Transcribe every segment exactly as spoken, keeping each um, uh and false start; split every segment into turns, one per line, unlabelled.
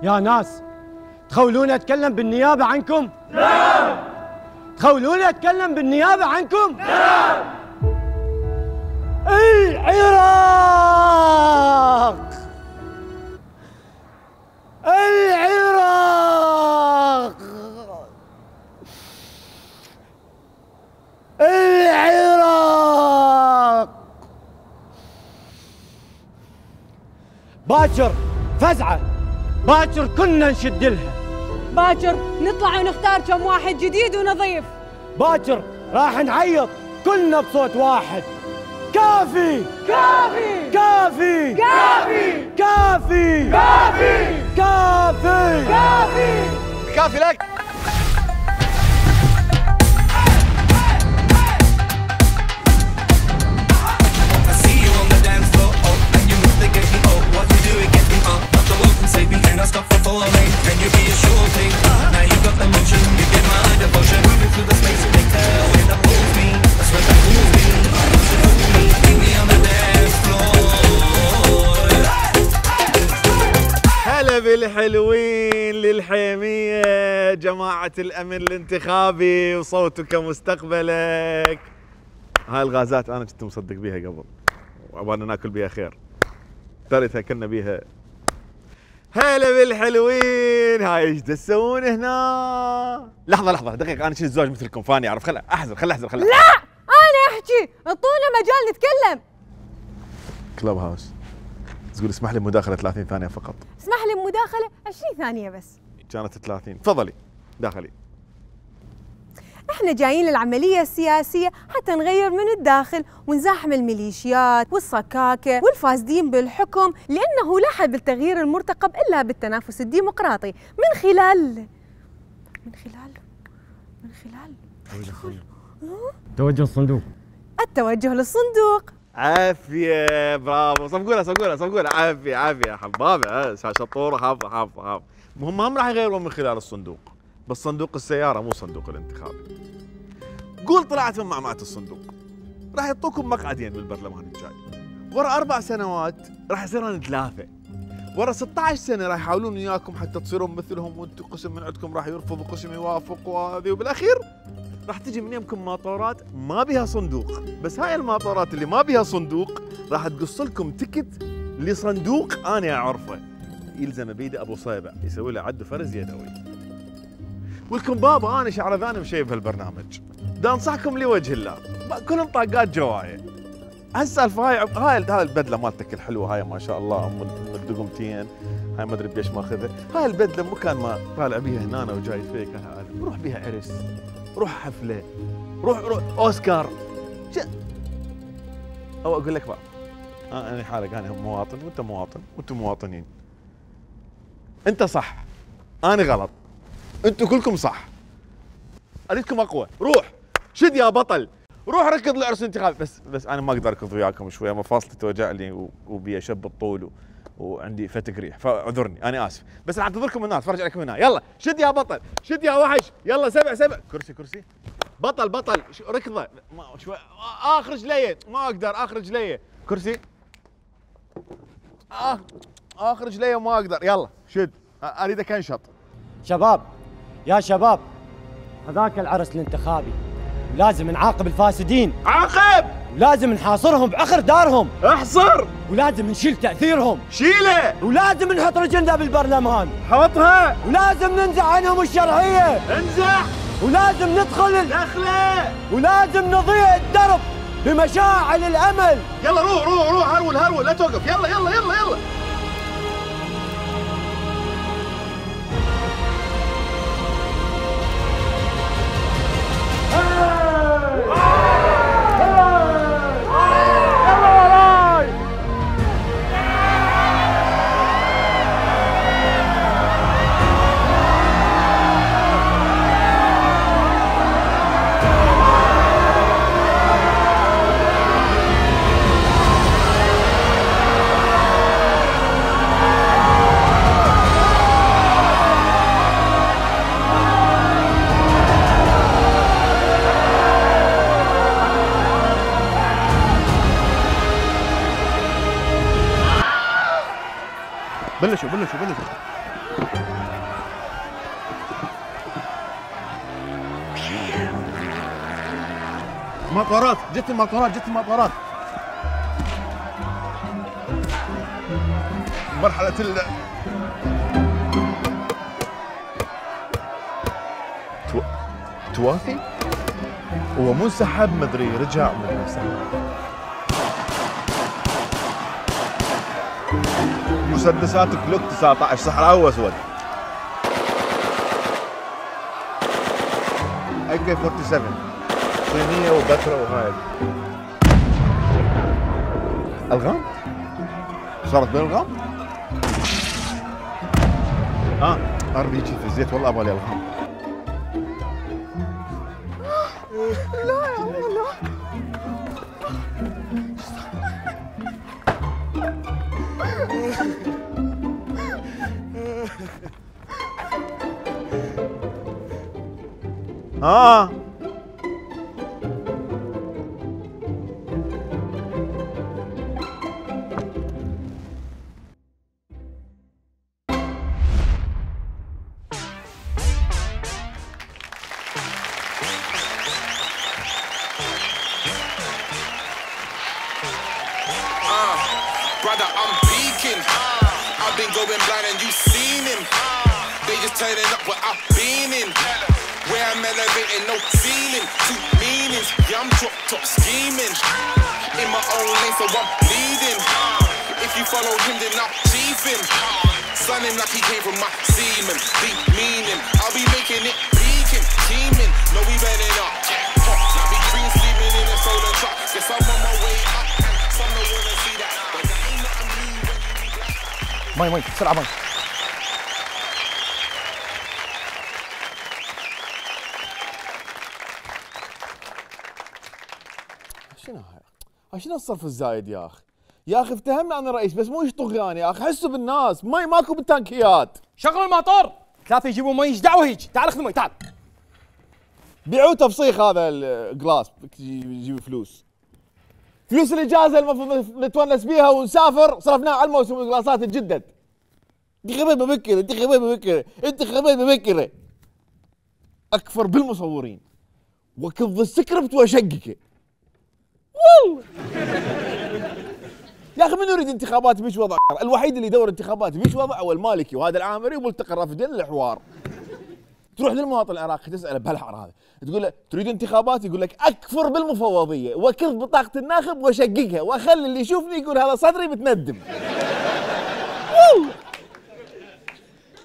يا ناس تخولوني اتكلم بالنيابه عنكم؟
نعم.
تخولوني اتكلم بالنيابه عنكم؟ نعم. العراق العراق العراق باكر فزعه، باكر كنا نشد لها،
باكر نطلع ونختار كم واحد جديد ونظيف،
باكر راح نعيط كلنا بصوت واحد. كافي
كافي
كافي
كافي
كافي
كافي
كافي
كافي
كافي لك. هلا بالحلوين للحيمية، جماعة الأمن الانتخابي وصوتك مستقبلك. هاي الغازات أنا كنت مصدق بيها قبل وأبغى ناكل بيها خير، ترى تاكلنا بيها. هلا بالحلوين، هاي ايش تسوون هنا؟ لحظة لحظة دقيقة، أنا شنو الزواج مثلكم فاني أعرف، خل أحزر خل أحزر خل
لا أنا أحكي، اعطونا مجال نتكلم.
كلوب هاوس تقول اسمح لي بمداخلة ثلاثين ثانية فقط.
اسمح لي بمداخلة عشرين ثانية بس.
كانت ثلاثين، تفضلي داخلي.
احنا جايين للعملية السياسية حتى نغير من الداخل ونزاحم الميليشيات والصكاكة والفاسدين بالحكم، لأنه لا حل بالتغيير المرتقب إلا بالتنافس الديمقراطي من خلال من خلال من خلال
توجه الصندوق.
التوجه للصندوق.
عافية، برافو، صفقولها صفقولها صفقولها، عافية عافية يا حبابة، شطورة، حافظة حافظة حافظة. هم هم راح يغيرون من خلال الصندوق، بس صندوق السيارة مو صندوق الانتخابي. قول طلعت من معمعة الصندوق، راح يعطوكم مقعدين بالبرلمان الجاي. ورا أربع سنوات راح يصيرون ثلاثة. ورا ستة عشر سنة راح يحاولون وياكم حتى تصيرون مثلهم، وانتم قسم من عندكم راح يرفض وقسم يوافق وهذه، وبالأخير راح تجي من يمكم ماطورات ما بها صندوق، بس هاي الماطورات اللي ما بها صندوق راح تقص لكم تكت لصندوق أنا أعرفه، يلزم بيده أبو صيبة يسوي له عد فرز يدوي. ولكم بابا أنا شعرذاني مشيب بهالبرنامج، دا أنصحكم لوجه الله، كلهم طاقات جواية. هالسالفة هاي هاي هاي البدلة مالتك الحلوة هاي ما شاء الله أم الدقمتين، هاي ما أدري بيش ماخذها، هاي البدلة مو كان ما طالع بيها هنا أنا وجاي فيك، روح بيها عرس، روح حفلة، روح روح أوسكار. ش... أو أقول لك بقى أنا حالك، أنا مواطن وأنت مواطن وأنتم مواطنين. أنت صح، أنا غلط، أنتم كلكم صح. أريدكم أقوى، روح شد يا بطل، روح ركض لعرس انتخابي. بس بس أنا ما أقدر أركض وياكم شوية، مفاصلي توجع لي وبي أشب الطول و... وعندي فتق ريح، فاعذرني أنا آسف، بس راح أنتظركم هنا أتفرج عليكم هنا. يلا شد يا بطل، شد يا وحش، يلا سبع سبع كرسي كرسي بطل بطل ركضه شوي، اخر رجليه ما اقدر، اخر رجليه كرسي، آه اخر رجليه ما اقدر، يلا شد اريدك انشط.
شباب يا شباب، هذاك العرس الانتخابي لازم نعاقب الفاسدين،
عاقب،
ولازم نحاصرهم بعخر دارهم،
احصر،
ولازم نشيل تاثيرهم،
شيله،
ولازم نحط رجلنا بالبرلمان،
حطها،
ولازم ننزع عنهم الشرعيه،
انزع،
ولازم ندخل
دخله،
ولازم نضيع الدرب بمشاعل الامل.
يلا روح روح روح هرول هرول، لا توقف، يلا يلا يلا يلا. بلشوا بلشوا بلشوا مطارات، جت المطارات، جت المطارات. مرحلة ال تو... توافي؟ هو مو انسحب مدري رجع مدري انسحب. مسدسات كلوك تسعة عشر صحراوي واسود. اي كي سبعة وأربعين صينية وبتراء وهاي. الغام؟ صارت بالغام؟ اه ار بي جي في الزيت والله ابغى لي الغام.
لا يا الله لا.
اه
Brother, I'm peeking. I've been going blind and you seen him. They just turning up what I've been in. Where I'm elevating, no ceiling. Two meanings. Yeah, I'm drop top scheming. In my own lane, so I'm leading. If you follow him, then I'm chiefing. Son him like he came from my semen. Deep meaning. I'll be making it peaking, teaming. No, we running up. I'll be green sleeping in a solar truck. Guess I'm on my way up. Some don't wanna see that. But that ain't nothing new when you be black.
مي مي بسرعة مي. شنو هاي؟ شنو الصرف الزايد يا اخي؟ يا اخي افتهمنا عن الرئيس بس مو ايش طغيان يا اخي، حسوا بالناس، مي ماكو بالتانكيات.
شغل الموتور، ثلاثة يجيبوا مي، ايش دعوة هيك؟ تعال خذ مي تعال.
بيعوه تفصيخ هذا الجلاس يجيب فلوس. فلوس الاجازه المفروض نتونس بيها ونسافر صرفناها على الموسم الجلاسات تجدد. انت خبيث ببكره، انت خبيث ببكره، انت خبيث ببكره. اكفر بالمصورين وكض السكريبت واشققه. والله يا اخي من يريد انتخابات بيش وضع؟ الوحيد اللي يدور انتخابات بيش وضع هو المالكي وهذا العامري وملتقى الرافدين للحوار. تروح للمواطن العراقي تساله بهالحر هذا، تقول له تريد انتخابات؟ يقول لك اكفر بالمفوضيه وكذ بطاقه الناخب واشققها واخلي اللي يشوفني يقول هذا صدري متندم. والله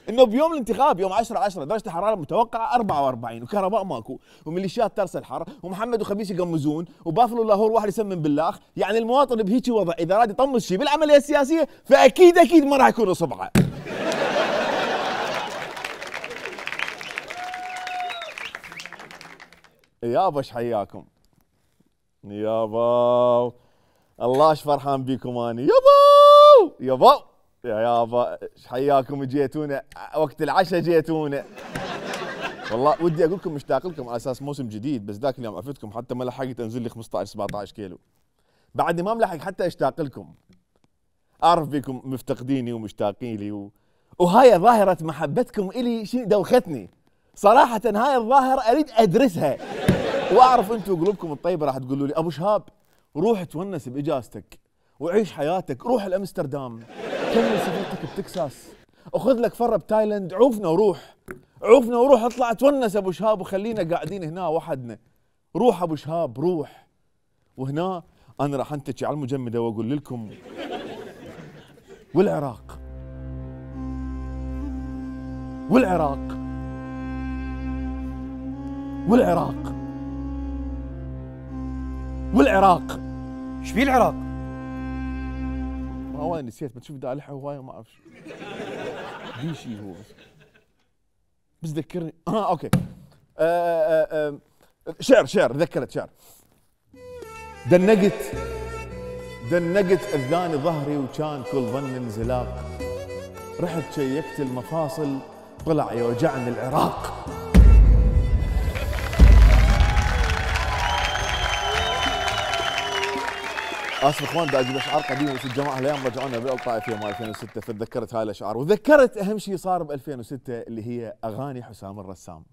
انه بيوم الانتخاب يوم عشرة عشرة درجه الحراره المتوقعه أربعة وأربعين وكهرباء ماكو وميليشيات ترسل حر ومحمد وخبيث يقمزون وبافلو لاهور واحد يسمم باللاخ، يعني المواطن بهيك وضع اذا راد يطمس شيء بالعمليه السياسيه فاكيد اكيد ما راح يكون اصبعه. يابا ايش حياكم؟ يابا الله ايش فرحان بيكم اني يابا يابا يا يابا ايش حياكم جيتونا وقت العشاء جيتونا. والله ودي اقول لكم مشتاق لكم على اساس موسم جديد بس ذاك اليوم عفتكم حتى ما لحقت انزل لي خمسة عشر سبعة عشر كيلو. بعدني ما ملحق حتى اشتاق لكم. اعرف بيكم مفتقديني ومشتاقين لي و... وهاي ظاهرة محبتكم الي شيء دوختني. صراحة هاي الظاهرة اريد ادرسها. واعرف انتم قلوبكم الطيبة راح تقولوا لي ابو شهاب روح تونس باجازتك وعيش حياتك، روح لامستردام، كمل سفرتك بتكساس، وخذ لك فرة بتايلاند، عوفنا وروح، عوفنا وروح اطلع تونس ابو شهاب وخلينا قاعدين هنا وحدنا. روح ابو شهاب روح. وهنا انا راح انتكي على المجمدة واقول لكم والعراق والعراق والعراق والعراق.
ايش بيه العراق؟
ما هو نسيت بتشوف دالحه هوايه ما اعرف في شيء هو بس بس ذكرني اه اوكي آه آه آه شعر شعر ذكرت شعر. دنقت دنقت اذاني ظهري وكان كل ظن انزلاق، رحت شيكت المفاصل طلع يوجعني العراق. اسف اخوان بدي اجيب اشعار قديمه بس الجماعه الايام رجعونا بالطائفيه مال ألفين وستة فتذكرت هاي الاشعار وذكرت اهم شيء صار ب ألفين وستة اللي هي اغاني حسام الرسام.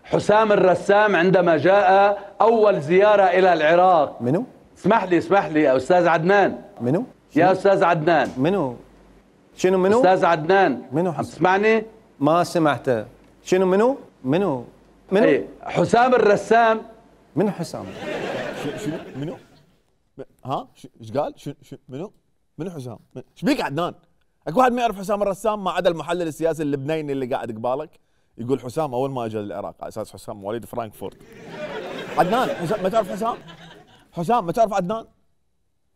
حسام الرسام عندما جاء أول زيارة إلى العراق.
منو؟
اسمح لي اسمح لي يا أستاذ عدنان.
منو؟
يا أستاذ عدنان.
منو؟ شنو منو؟
أستاذ عدنان.
منو
عم تسمعني؟
ما سمعته. شنو منو؟ منو؟ منو؟
اي حسام الرسام.
منو حسام؟
شنو منو؟ ها؟ ايش قال؟ شنو منو؟ منو حسام؟ ايش بيك عدنان؟ اكو واحد ما يعرف حسام الرسام ما عدا المحلل السياسي اللبناني اللي قاعد قبالك يقول حسام اول ما اجى للعراق على اساس حسام مواليد فرانكفورت. عدنان حسام ما تعرف حسام؟ حسام ما تعرف عدنان؟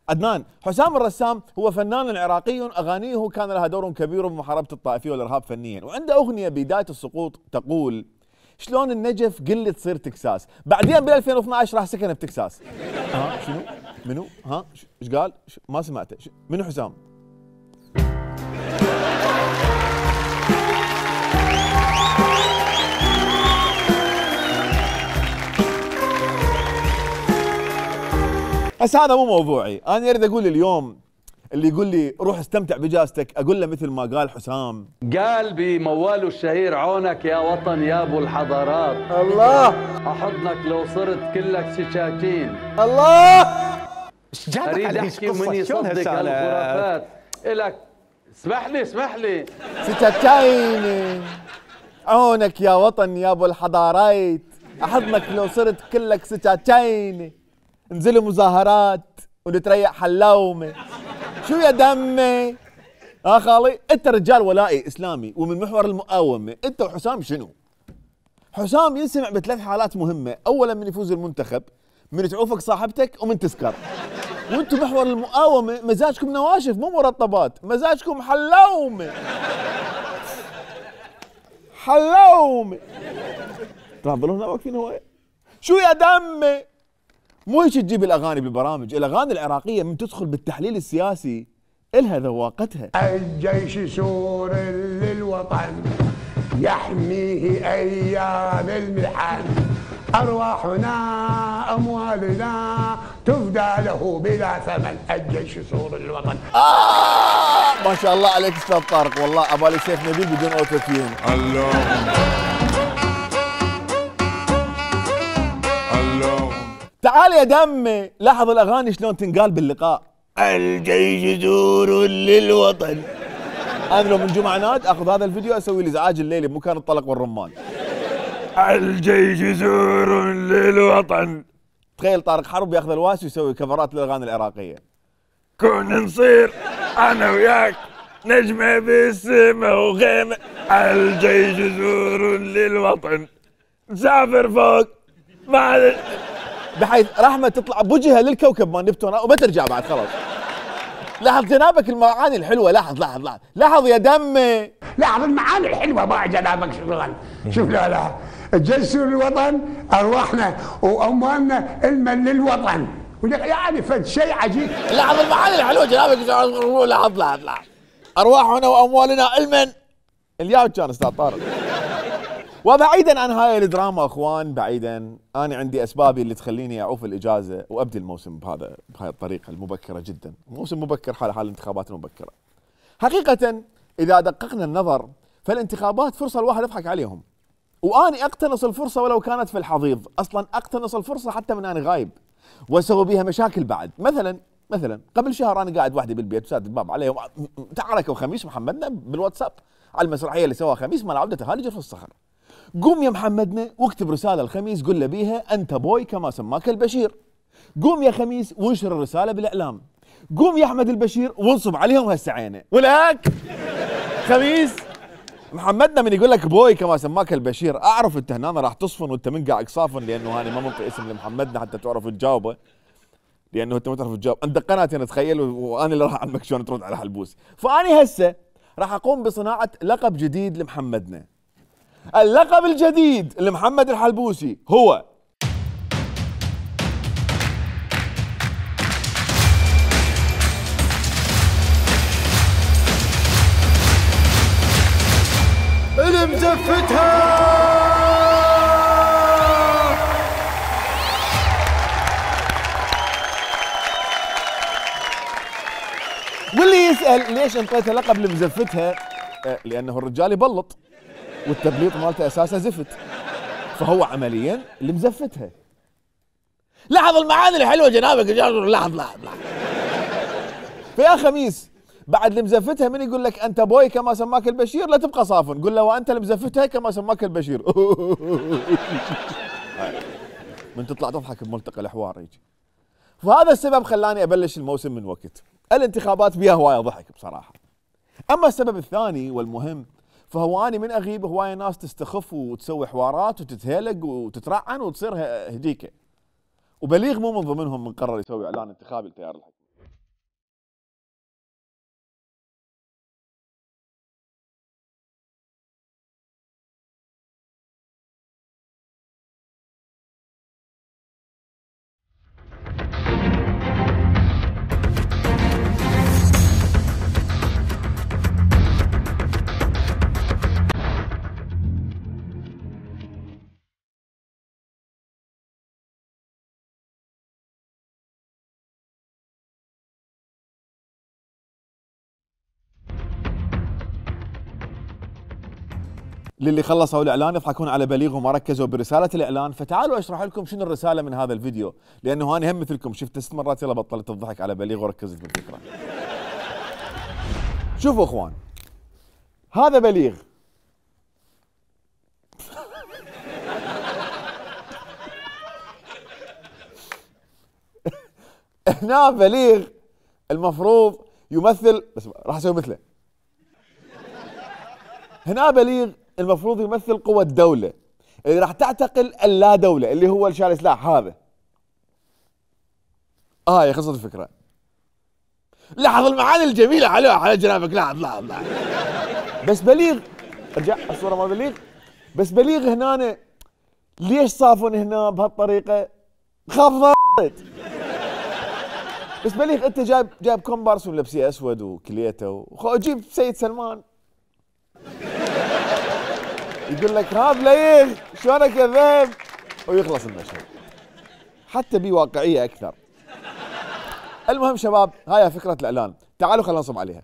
عدنان حسام الرسام هو فنان عراقي اغانيه كان لها دور كبير بمحاربه الطائفيه والارهاب فنيا، وعنده اغنيه بدايه السقوط تقول شلون النجف قل تصير تكساس، بعدين بال ألفين واثنعش راح سكن بتكساس. ها شنو؟ منو؟ ها ايش قال؟ ما سمعته. منو حسام؟ هسه هذا مو موضوعي، انا اريد اقول اليوم اللي يقول لي روح استمتع بجازتك اقول له مثل ما قال حسام،
قال بمواله الشهير عونك يا وطن يا ابو الحضارات،
الله
احضنك لو صرت كلك سكاكين.
الله
ايش جابك
اريد
على
احكي ومن يصدق هالخرافات الك. اسمح لي اسمح لي.
سكاكين عونك يا وطن يا ابو الحضارات، احضنك لو صرت كلك سكاكين، انزلوا مظاهرات ونتريق حلاومه. شو يا دمي؟ ها خالي انت رجال ولائي اسلامي ومن محور المقاومه، انت وحسام شنو؟ حسام ينسمع بثلاث حالات مهمه، اولا من يفوز المنتخب، من تعوفك صاحبتك، ومن تسكر. وانتم محور المقاومه مزاجكم نواشف مو مرطبات، مزاجكم حلاومه. حلاومه. تفضلون واقفين هوايه. شو يا دمي؟ مو هيك تجيب الاغاني بالبرامج، الاغاني العراقيه من تدخل بالتحليل السياسي الها ذواقتها.
الجيش يثور للوطن يحميه ايام المحن، ارواحنا اموالنا تفدى له بلا ثمن، الجيش يثور للوطن.
آه ما شاء الله عليك استاذ طارق، والله ابالي سيف نبيل بدون اوتو تيون.
الله الله.
تعال يا دمي لاحظ الاغاني شلون تنقال باللقاء. الجيش يثور للوطن. انا لو من جمعه ناد اخذ هذا الفيديو اسوي لي ازعاج الليلي بمكان الطلق والرمان. الجيش يثور للوطن. تخيل طارق حرب ياخذ الواسي ويسوي كفرات للاغاني العراقيه. كون نصير انا وياك نجمه بالسما وغيمه، الجيش يثور للوطن، نسافر فوق ما بحيث رحمه تطلع بوجهها للكوكب مال نبتون وما ترجع بعد خلاص. لاحظ جنابك المعاني الحلوه، لاحظ لاحظ لاحظ لاحظ يا دمي،
لاحظ المعاني الحلوه مع جنابك شغل. شوف لا لا الجيش يثور للوطن، ارواحنا واموالنا المن للوطن، يعني فد شيء عجيب.
لاحظ المعاني الحلوه جنابك، لاحظ لاحظ لاحظ ارواحنا واموالنا علما. الياو كان استاذ طارق. وبعيدا عن هاي الدراما اخوان، بعيدا انا عندي اسبابي اللي تخليني اعوف الاجازه وابدي الموسم بهذا بهاي الطريقه المبكره جدا، موسم مبكر حال حال الانتخابات المبكره. حقيقه اذا دققنا النظر فالانتخابات فرصه الواحد يضحك عليهم، واني اقتنص الفرصه ولو كانت في الحضيض، اصلا اقتنص الفرصه حتى من انا غايب واسوي بيها مشاكل بعد. مثلا مثلا قبل شهر انا قاعد وحدي بالبيت وساد الباب عليهم، تعاركوا خميس محمدنا بالواتساب على المسرحيه اللي سواها خميس مال عوده هالجر في الصخر. قوم يا محمدنا واكتب رساله الخميس قل له بيها انت بوي كما سماك البشير. قوم يا خميس وانشر الرساله بالاعلام. قوم يا احمد البشير وانصب عليهم هسه عينه. ولك خميس محمدنا من يقول لك بوي كما سماك البشير، اعرف انت هنا راح تصفن وانت منقعك صافن، لانه هاني ما منطي اسم لمحمدنا حتى تعرف تجاوبه، لانه انت ما تعرف تجاوب. عندك قناتي انا تخيل، وانا اللي راح اعلمك شلون ترد على حلبوسي. فاني هسه راح اقوم بصناعه لقب جديد لمحمدنا. اللقب الجديد لمحمد الحلبوسي هو
المزفتها.
واللي يسأل ليش انطيته لقب لمزفتها؟ لأنه الرجال يبلط والتبليط مالته أساسه زفت، فهو عمليا اللي مزفتها. لاحظ المعاني الحلوه جنابك، لاحظ لاحظ لاحظ فيا خميس بعد اللي مزفتها من يقول لك انت بوي كما سماك البشير لا تبقى صافن، قل له وانت اللي مزفتها كما سماك البشير. من تطلع تضحك بملتقى الحوار يجي. فهذا السبب خلاني ابلش الموسم من وقت. الانتخابات بيها هوايه ضحك بصراحه. اما السبب الثاني والمهم فهو اني من اغيب هوايه ناس تستخف وتسوي حوارات وتتهلق وتترعن وتصير هديكه. وبليغ مو من ضمنهم من قرر يسوي اعلان انتخابي لتيار الحكم. للي خلصوا الاعلان يضحكون على بليغ وما ركزوا برساله الاعلان، فتعالوا اشرح لكم شنو الرساله من هذا الفيديو، لانه انا هم مثلكم شفت ست مرات يلا بطلت الضحك على بليغ وركزت بالفكره. شوفوا اخوان، هذا بليغ هنا بليغ المفروض يمثل، بس راح اسوي مثله. هنا بليغ المفروض يمثل قوى الدولة اللي راح تعتقل اللا دولة اللي هو شال سلاح هذا. اه هي خلصت الفكرة. لاحظ المعاني الجميلة حلوة على جنابك، لاحظ لاحظ لاحظ. بس بليغ ارجع الصورة مال بليغ. بس بليغ هنا ليش صافن هنا بهالطريقة؟ خاف ضايت. بس بليغ انت جايب جايب كومبارس ولبسيه اسود وكليته وجيب سيد سلمان يقول لك ها بليغ شلونك يا ذيب ويخلص المشهد. حتى بي واقعيه اكثر. المهم شباب هاي فكره الاعلان، تعالوا خلينا نصب عليها.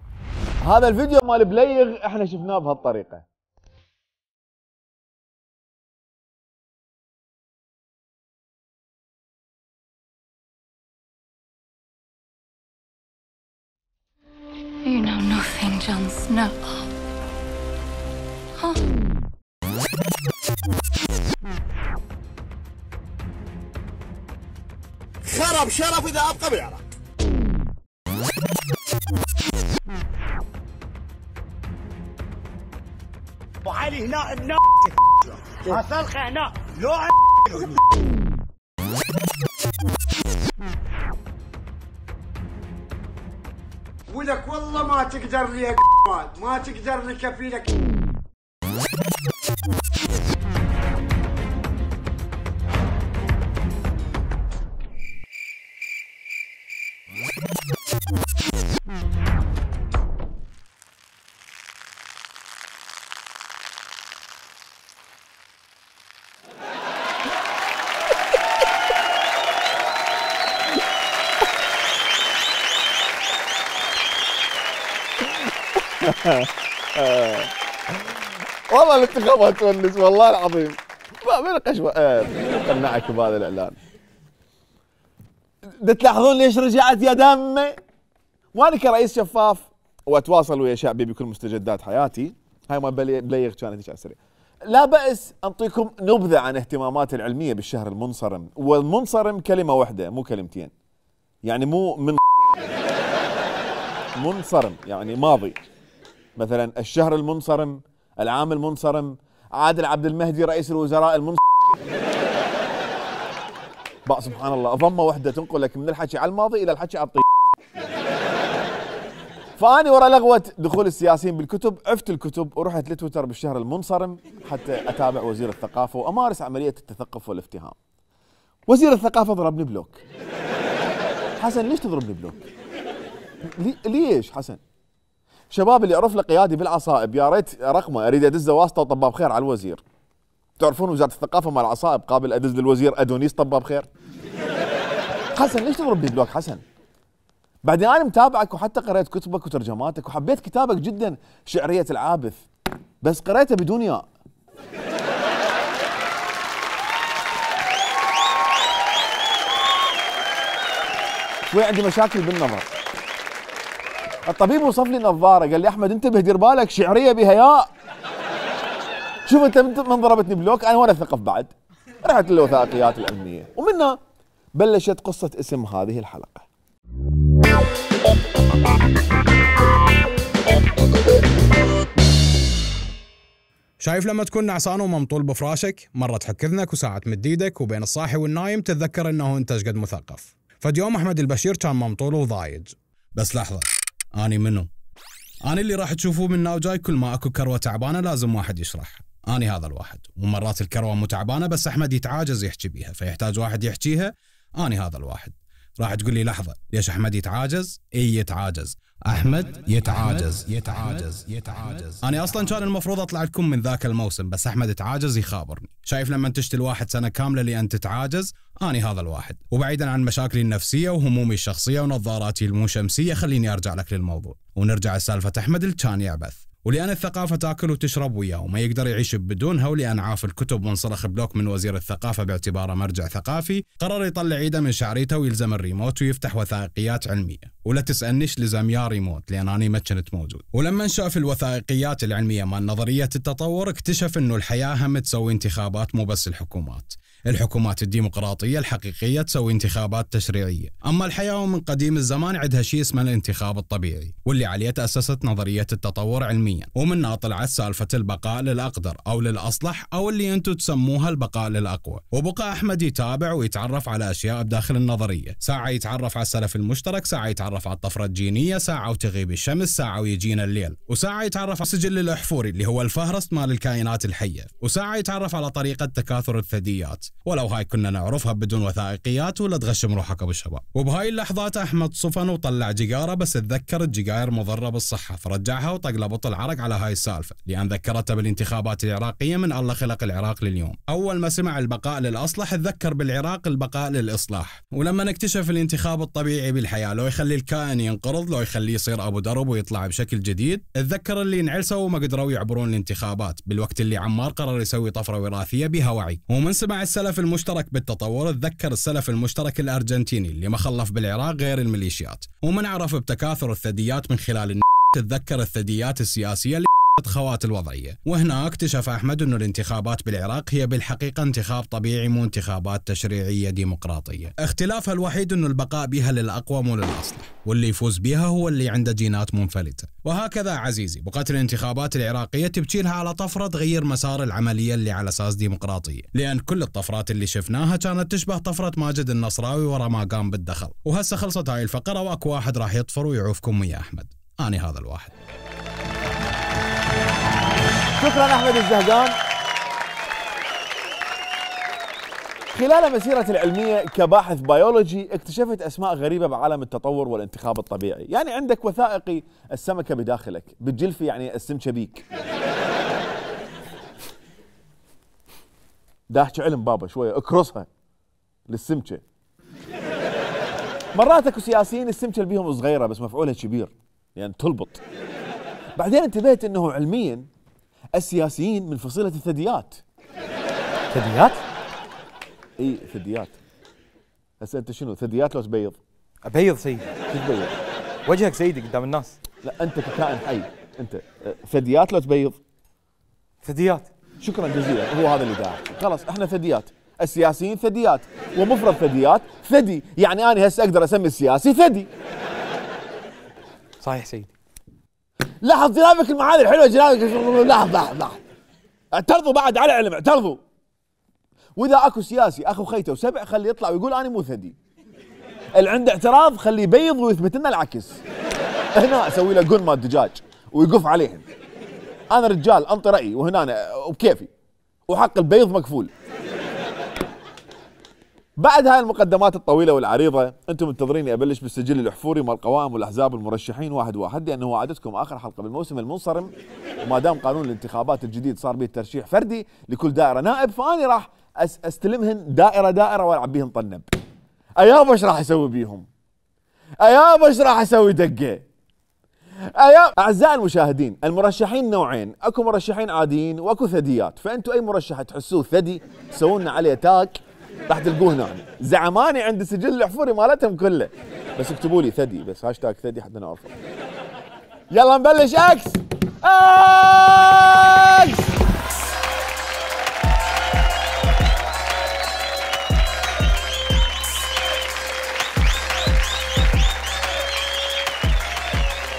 هذا الفيديو مال بليغ احنا شفناه بهالطريقه.
You know nothing, Jon Snow. Huh?
خرب شرف اذا ابقى بالعراق. ابو علي هنا ابن اصلخه هنا لو ولك والله ما تقدر لي يا ما تقدر لي كفيلك.
والله الانتخابات تونس والله العظيم. ما من قشوه قنعك بهذا الاعلان. تلاحظون ليش رجعت يا دمي؟ وانا كرئيس شفاف واتواصل ويا شعبي بكل مستجدات حياتي، هاي ما بليغ كانت على السريع. لا بأس انطيكم نبذه عن اهتماماتي العلميه بالشهر المنصرم، والمنصرم كلمه واحده مو كلمتين. يعني مو من منصرم يعني ماضي. مثلا الشهر المنصرم، العام المنصرم، عادل عبد المهدي رئيس الوزراء المنصرم. بقى سبحان الله ضمه واحده تنقلك من الحكي على الماضي الى الحكي على الطيب. فاني ورا لغوه دخول السياسيين بالكتب عفت الكتب ورحت لتويتر بالشهر المنصرم حتى اتابع وزير الثقافه وامارس عمليه التثقف والافتهام. وزير الثقافه ضربني بلوك. حسن ليش تضربني بلوك؟ لي ليش حسن؟ شباب اللي يعرف له قيادي بالعصائب يا ريت رقمه اريد ادزه واسطه وطباب خير على الوزير. تعرفون وزاره الثقافه مال العصائب قابل ادز للوزير ادونيس طباب خير. حسن ليش تضربني بلوك حسن؟ بعدين انا متابعك وحتى قريت كتبك وترجماتك وحبيت كتابك جدا شعريه العابث، بس قريته بدون ياء. شوي عندي مشاكل بالنظر. الطبيب وصف لي نظاره، قال لي احمد انتبه دير بالك شعريه بها ياء. شوف انت من ضربتني بلوك انا ولا ثقف بعد. رحت للوثائقيات العلميه ومنها بلشت قصه اسم هذه الحلقه.
شايف لما تكون نعسان وممطول بفراشك، مرة تحك اذنك وساعة تمد ايدك وبين الصاحي والنايم تتذكر انه انت شقد مثقف. فاليوم احمد البشير كان ممطول وضايج. بس لحظة، اني منو؟ اني اللي راح تشوفوه منا وجاي كل ما اكو كروة تعبانة لازم واحد يشرح. اني هذا الواحد، ومرات الكروة مو تعبانة بس احمد يتعاجز يحكي بيها فيحتاج واحد يحكيها. اني هذا الواحد. راح تقول لي لحظة، ليش احمد يتعاجز؟ اي يتعاجز. احمد يتعاجز يتعاجز يتعاجز. انا اصلا كان المفروض اطلع لكم من ذاك الموسم بس احمد يتعاجز يخابرني. شايف لما تشتي الواحد سنه كامله لان تتعاجز؟ اني هذا الواحد. وبعيدا عن مشاكلي النفسيه وهمومي الشخصيه ونظاراتي المو شمسيه، خليني ارجع لك للموضوع ونرجع لسالفه احمد اللي كان يعبث. ولأن الثقافة تاكل وتشرب وياه وما يقدر يعيش بدونها، ولأن عاف الكتب وانصرخ بلوك من وزير الثقافة باعتباره مرجع ثقافي، قرر يطلع ايده من شعريته ويلزم الريموت ويفتح وثائقيات علمية. ولا تسألنيش لزم يا ريموت لأن أنا ما كنت موجود. ولما شاف الوثائقيات العلمية مال نظرية التطور اكتشف إنه الحياة هم تسوي انتخابات مو بس الحكومات. الحكومات الديمقراطية الحقيقية تسوي انتخابات تشريعية، أما الحياة من قديم الزمان عندها شيء اسمه الانتخاب الطبيعي، واللي عليه تأسست نظرية التطور علميا، ومنها طلعت سالفة البقاء للأقدر أو للأصلح أو اللي أنتم تسموها البقاء للأقوى. وبقى أحمد يتابع ويتعرف على أشياء بداخل النظرية، ساعة يتعرف على السلف المشترك، ساعة يتعرف على الطفرة الجينية، ساعة وتغيب الشمس، ساعة ويجينا الليل، وساعة يتعرف على السجل الأحفوري اللي هو الفهرست مال الكائنات الحية، وساعة يتعرف على طريقة تكاثر الثدييات، ولو هاي كنا نعرفها بدون وثائقيات ولا تغشم روحك ابو الشباب. وبهاي اللحظات احمد صفن وطلع جيجاره، بس تذكر الجيجاير مضره بالصحه فرجعها وطق بطل عرق على هاي السالفه، لان ذكرته بالانتخابات العراقيه من الله خلق العراق لليوم. اول ما سمع البقاء للاصلح تذكر بالعراق البقاء للاصلاح. ولما نكتشف الانتخاب الطبيعي بالحياه لو يخلي الكائن ينقرض، لو يخليه يصير ابو درب ويطلع بشكل جديد، تذكر اللي انعلسوا وما قدروا يعبرون الانتخابات بالوقت اللي عمار قرر يسوي طفره وراثيه بها وعي. ومن سمع السلف المشترك بالتطور تذكر السلف المشترك الارجنتيني اللي ما خلف بالعراق غير الميليشيات. ومن عرف بتكاثر الثدييات من خلال الن... تتذكر الثدييات السياسيه اللي خوات الوضعيه. وهنا اكتشف احمد انه الانتخابات بالعراق هي بالحقيقه انتخاب طبيعي مو انتخابات تشريعيه ديمقراطيه. اختلافها الوحيد انه البقاء بها للاقوى مو للاصلح، واللي يفوز بها هو اللي عنده جينات منفلته. وهكذا عزيزي بقت الانتخابات العراقيه تبكي لها على طفره تغير مسار العمليه اللي على اساس ديمقراطيه، لان كل الطفرات اللي شفناها كانت تشبه طفره ماجد النصراوي ورا ما قام بالدخل. وهسه خلصت هاي الفقره واكو واحد راح يطفر ويعوفكم ويا احمد. اني هذا الواحد.
شكرا احمد الزهقان. خلال مسيرتي العلميه كباحث بيولوجي اكتشفت اسماء غريبه بعالم التطور والانتخاب الطبيعي. يعني عندك وثائقي السمكه بداخلك، بالجلفي يعني السمكه بيك. دا احكي علم بابا شويه اكرسها للسمكه. مرات اكو سياسيين السمكه اللي بيهم صغيره بس مفعولها كبير يعني تلبط. بعدين انتبهت انه علميا السياسيين من فصيله الثدييات.
ثدييات؟
اي ثدييات. هسه انت شنو ثدييات لو تبيض؟
ابيض سيدي.
شو تبيض؟
وجهك سيدي قدام الناس.
لا انت ككائن حي، انت ثدييات لو تبيض؟
ثدييات.
شكرا جزيلا، هو هذا اللي داعي. خلاص احنا ثدييات، السياسيين ثدييات، ومفرد ثدييات ثدي، يعني انا هسه اقدر اسمي السياسي ثدي.
صحيح سيدي.
لاحظ جنابك المعاني الحلوه جنابك. لاحظ لاحظ لاحظ اعترضوا بعد على علم، اعترضوا. واذا اكو سياسي اخو خيته وسبع خليه يطلع ويقول انا مو ثدي. اللي عنده اعتراض خليه يبيض ويثبت لنا العكس. هنا اسوي له قن مال دجاج ويقف عليهم. انا رجال انطي رايي وهنا وبكيفي وحق البيض مكفول. بعد هاي المقدمات الطويله والعريضه انتم منتظريني ابلش بالسجل الاحفوري مال القوائم والاحزاب والمرشحين واحد واحد، لانه عادتكم اخر حلقه بالموسم المنصرم، وما دام قانون الانتخابات الجديد صار به ترشيح فردي لكل دائره نائب، فاني راح استلمهن دائره دائره والعب بيهن طنب. ايابا ايش راح اسوي بيهم؟ ايابا ايش راح اسوي دقه؟ ايابا. اعزائي المشاهدين، المرشحين نوعين، اكو مرشحين عاديين واكو ثدييات، فانتم اي مرشح تحسوه ثدي سووا لنا عليه تاك راح تلقوه هنا. زعماني عند السجل الاحفوري مالتهم كله، بس اكتبوا لي ثدي بس، هاشتاج ثدي حتى نعرفه. يلا نبلش. اكس اكس.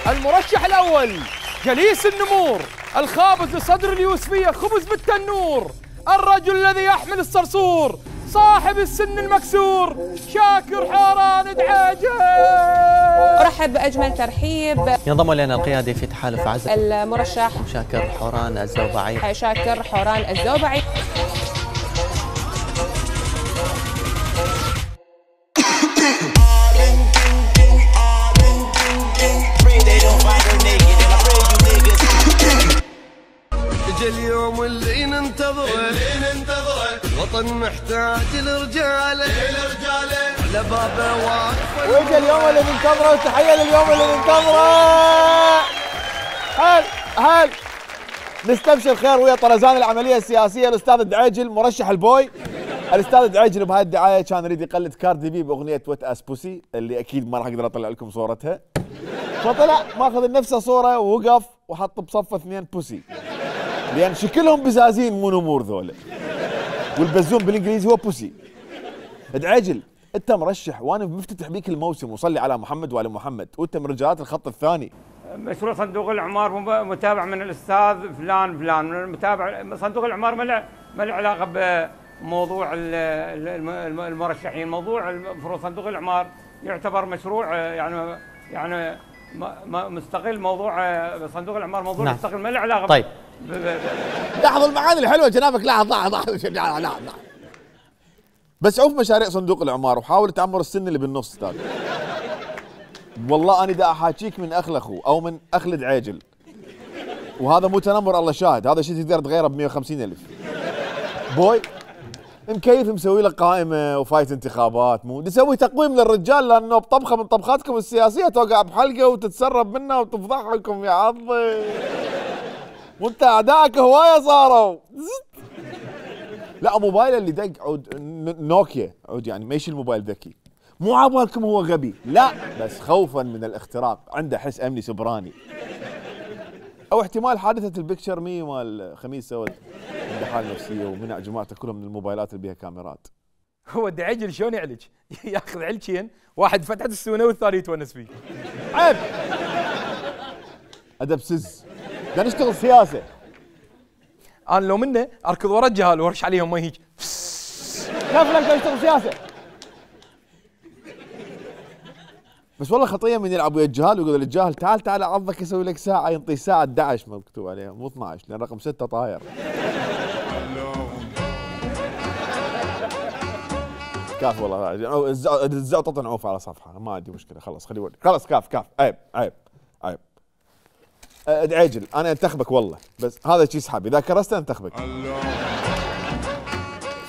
المرشح الأول جليس النمور، الخابز لصدر اليوسفية خبز بالتنور، الرجل الذي يحمل الصرصور، صاحب السن المكسور، شاكر حوران دعاجل.
أرحب بأجمل ترحيب.
ينضم إلينا القيادي في تحالف عزل
المرشح
شاكر حوران الزوبعي.
شاكر حوران الزوبعي.
اجى اليوم اللي ننتظره اللي ننتظره، وطن محتاج لرجاله لرجاله، على بابه واقفه.
واجى اليوم اللي ننتظره، وتحيه لليوم اللي ننتظره. هل هل نستبشر خير ويا طرزان العمليه السياسيه الاستاذ الدعيجل مرشح البوي. الاستاذ الدعيجل بهاي الدعايه كان يريد يقلد كاردي بي باغنيه وات اس بوسي اللي اكيد ما راح اقدر اطلع لكم صورتها، فطلع ماخذ نفسه صوره ووقف وحط بصفه اثنين بوسي، لان شكلهم بزازين مو نمور ذولا، والبزون بالانجليزي هو بوسي. دعيجل انت مرشح وانا مفتتح بيك الموسم وصلي على محمد وعلى محمد، وانت من رجالات الخط الثاني.
مشروع صندوق الاعمار متابع من الاستاذ فلان فلان، من المتابع صندوق الاعمار ما له ما له علاقه بموضوع المرشحين، موضوع صندوق الاعمار يعتبر مشروع يعني يعني مستقل، موضوع صندوق الاعمار موضوع نعم. مستقل ما له علاقه.
طيب
لاحظوا المعاني الحلوه جنابك، لاحظ لاحظ لاحظ لاحظ بس عوف مشاريع صندوق الاعمار وحاول تعمر السن اللي بالنص استاذ. والله انا دا احاكيك من اخل اخو او من اخل دعيجل، وهذا مو تنمر الله شاهد، هذا شيء تقدر تغيره ب مئة وخمسين ألف. بوي مكيف مسوي له قائمه وفايت انتخابات، مو نسوي تقويم للرجال لانه بطبخه من طبخاتكم السياسيه توقع بحلقه وتتسرب منها وتفضحكم يا عظي، وانت اعدائك هوايه صاروا. لا موبايله اللي دق عود نوكيا، عود يعني ما يشيل الموبايل ذكي، مو عبالكم هو غبي، لا بس خوفا من الاختراق، عنده حس امني سبراني، او احتمال حادثه البكتشر مي مال خميس سود عنده حاله نفسيه ومنع جماعته كلهم من الموبايلات اللي بيها كاميرات.
هو الدعيجل شلون يعلج؟ ياخذ علكين، واحد فتحه السونه والثاني يتونس فيه.
عيب ادب سز، بدنا نشتغل سياسه.
انا لو منه اركض ورا الجهال وارش عليهم ما هيك.
كيف لك نشتغل سياسه؟ بس والله خطيه من يلعب ويا الجهال ويقول للجاهل تعال تعال عضك يسوي لك ساعه، ينطي ساعه احد عشر مكتوب عليها مو اثني عشر لان رقم ستة طاير. كاف والله الزعطه نعوف على صفحه ما عندي مشكله، خلص خليه يولي خلص. كاف كاف عيب عيب عيب. دعيجل انا انتخبك والله، بس هذا شيء اسحب اذا كرست انتخبك.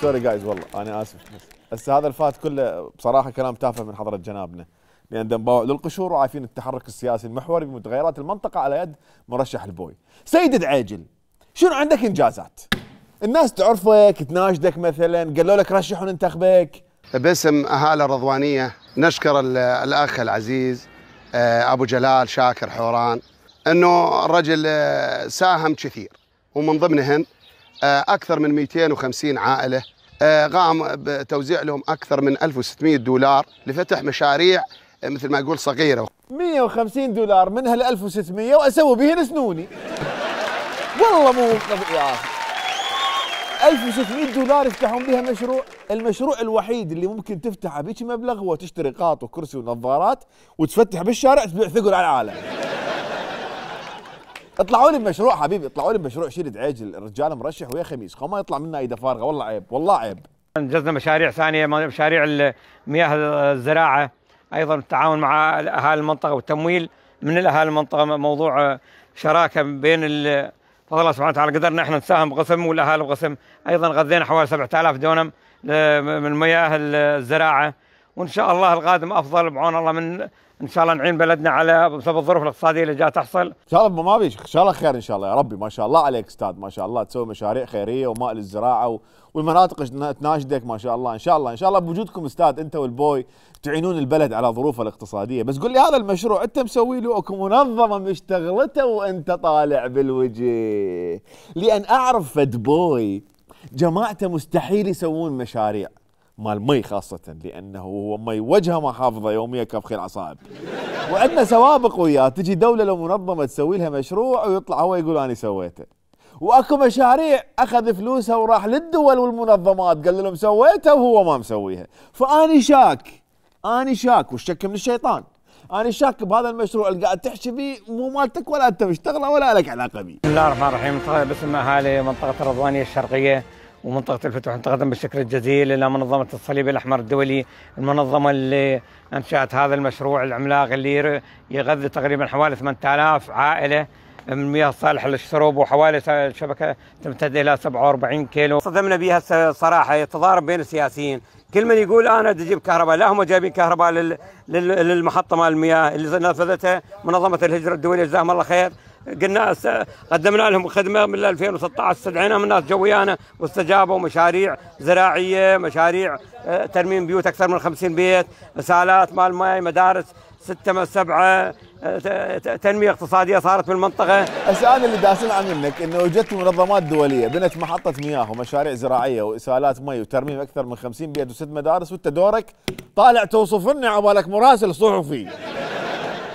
سوري جايز والله انا اسف، بس هسه هذا الفات كله بصراحه كلام تافه من حضره جنابنا، لان دنباوع للقشور وعارفين التحرك السياسي المحوري بمتغيرات المنطقه على يد مرشح البوي. سيد دعيجل شنو عندك انجازات؟ الناس تعرفك تناشدك مثلا، قالوا لك رشح وننتخبك.
باسم اهالي الرضوانيه نشكر الاخ العزيز ابو جلال شاكر حوران انه الرجل ساهم كثير، ومن ضمنهن اكثر من مئتين وخمسين عائله، قام بتوزيع لهم اكثر من ألف وستمئة دولار لفتح مشاريع مثل ما يقول صغيره.
مئة وخمسين دولار من هال ألف وستمئة واسوي بهن سنوني. والله مو يا اخي ألف وستمئة دولار يفتحون بها مشروع، المشروع الوحيد اللي ممكن تفتحه بهيك مبلغ هو تشتري قاط وكرسي ونظارات وتفتح بالشارع تبيع ثقل على العالم. اطلعوا لي بمشروع حبيبي، اطلعوا لي بمشروع شيل دعيجل، الرجال مرشح ويا خميس، خو ما يطلع منا ايده فارغه، والله عيب والله عيب.
انجزنا مشاريع ثانيه، مشاريع مياه الزراعه، ايضا التعاون مع اهالي المنطقه والتمويل من الاهالي المنطقه، موضوع شراكه بين فضل الله سبحانه وتعالى قدرنا احنا نساهم بقسم والاهالي بقسم، ايضا غذينا حوالي سبعة آلاف دونم من مياه الزراعه، وان شاء الله القادم افضل بعون الله، من ان شاء الله نعين بلدنا على بسبب الظروف الاقتصاديه اللي جايه تحصل. ان
شاء الله ما بيش ان شاء الله خير ان شاء الله يا ربي. ما شاء الله عليك استاذ، ما شاء الله تسوي مشاريع خيريه وماء للزراعه والمناطق تناشدك ما شاء الله. ان شاء الله ان شاء الله بوجودكم استاذ انت والبوي تعينون البلد على ظروفه الاقتصاديه. بس قل لي هذا المشروع انت مسوي له اكو منظمه مشتغلته وانت طالع بالوجه؟ لان اعرف فد بوي جماعته مستحيل يسوون مشاريع مال مي خاصة، لأنه هو مي وجهه ما حافظه يوميا كف خيل عصائب. وعندنا سوابق وياه، تجي دولة لو منظمة تسوي لها مشروع ويطلع هو يقول أنا سويته. وأكو مشاريع أخذ فلوسها وراح للدول والمنظمات قال لهم سويتها وهو ما مسويها. فأني شاك أني شاك والشك من الشيطان. أنا شاك بهذا المشروع اللي قاعد تحكي به مو مالتك ولا أنت مشتغله ولا لك علاقة به.
بسم الله الرحمن الرحيم. باسم أهالي منطقة الرضوانية الشرقية ومنطقة الفتوح نتقدم بالشكر الجزيل إلى منظمة الصليب الأحمر الدولي، المنظمة اللي أنشأت هذا المشروع العملاق اللي يغذي تقريبا حوالي ثمانية آلاف عائلة من مياه صالحة للشرب، وحوالي شبكة تمتد إلى سبعة وأربعين كيلو. صدمنا بها صراحة يتضارب بين السياسيين، كل من يقول أنا بدي أجيب كهرباء، لا هم جايبين كهرباء لل... لل... للمحطة مال المياه اللي نفذتها منظمة الهجرة الدولية جزاهم الله خير. قلنا قدمنا لهم خدمه من ألفين وستة عشر، استدعيناهم الناس جو ويانا واستجابوا. مشاريع زراعيه، مشاريع ترميم بيوت اكثر من خمسين بيت، اسالات مال ماء، مدارس ستة سبعة، تنميه اقتصاديه صارت بالمنطقه.
هسه انا اللي داسل عن منك انه وجدت منظمات دوليه بنت محطه مياه ومشاريع زراعيه واسالات مي وترميم اكثر من خمسين بيت وست مدارس، وانت دورك طالع توصف لنا عبالك مراسل صحفي.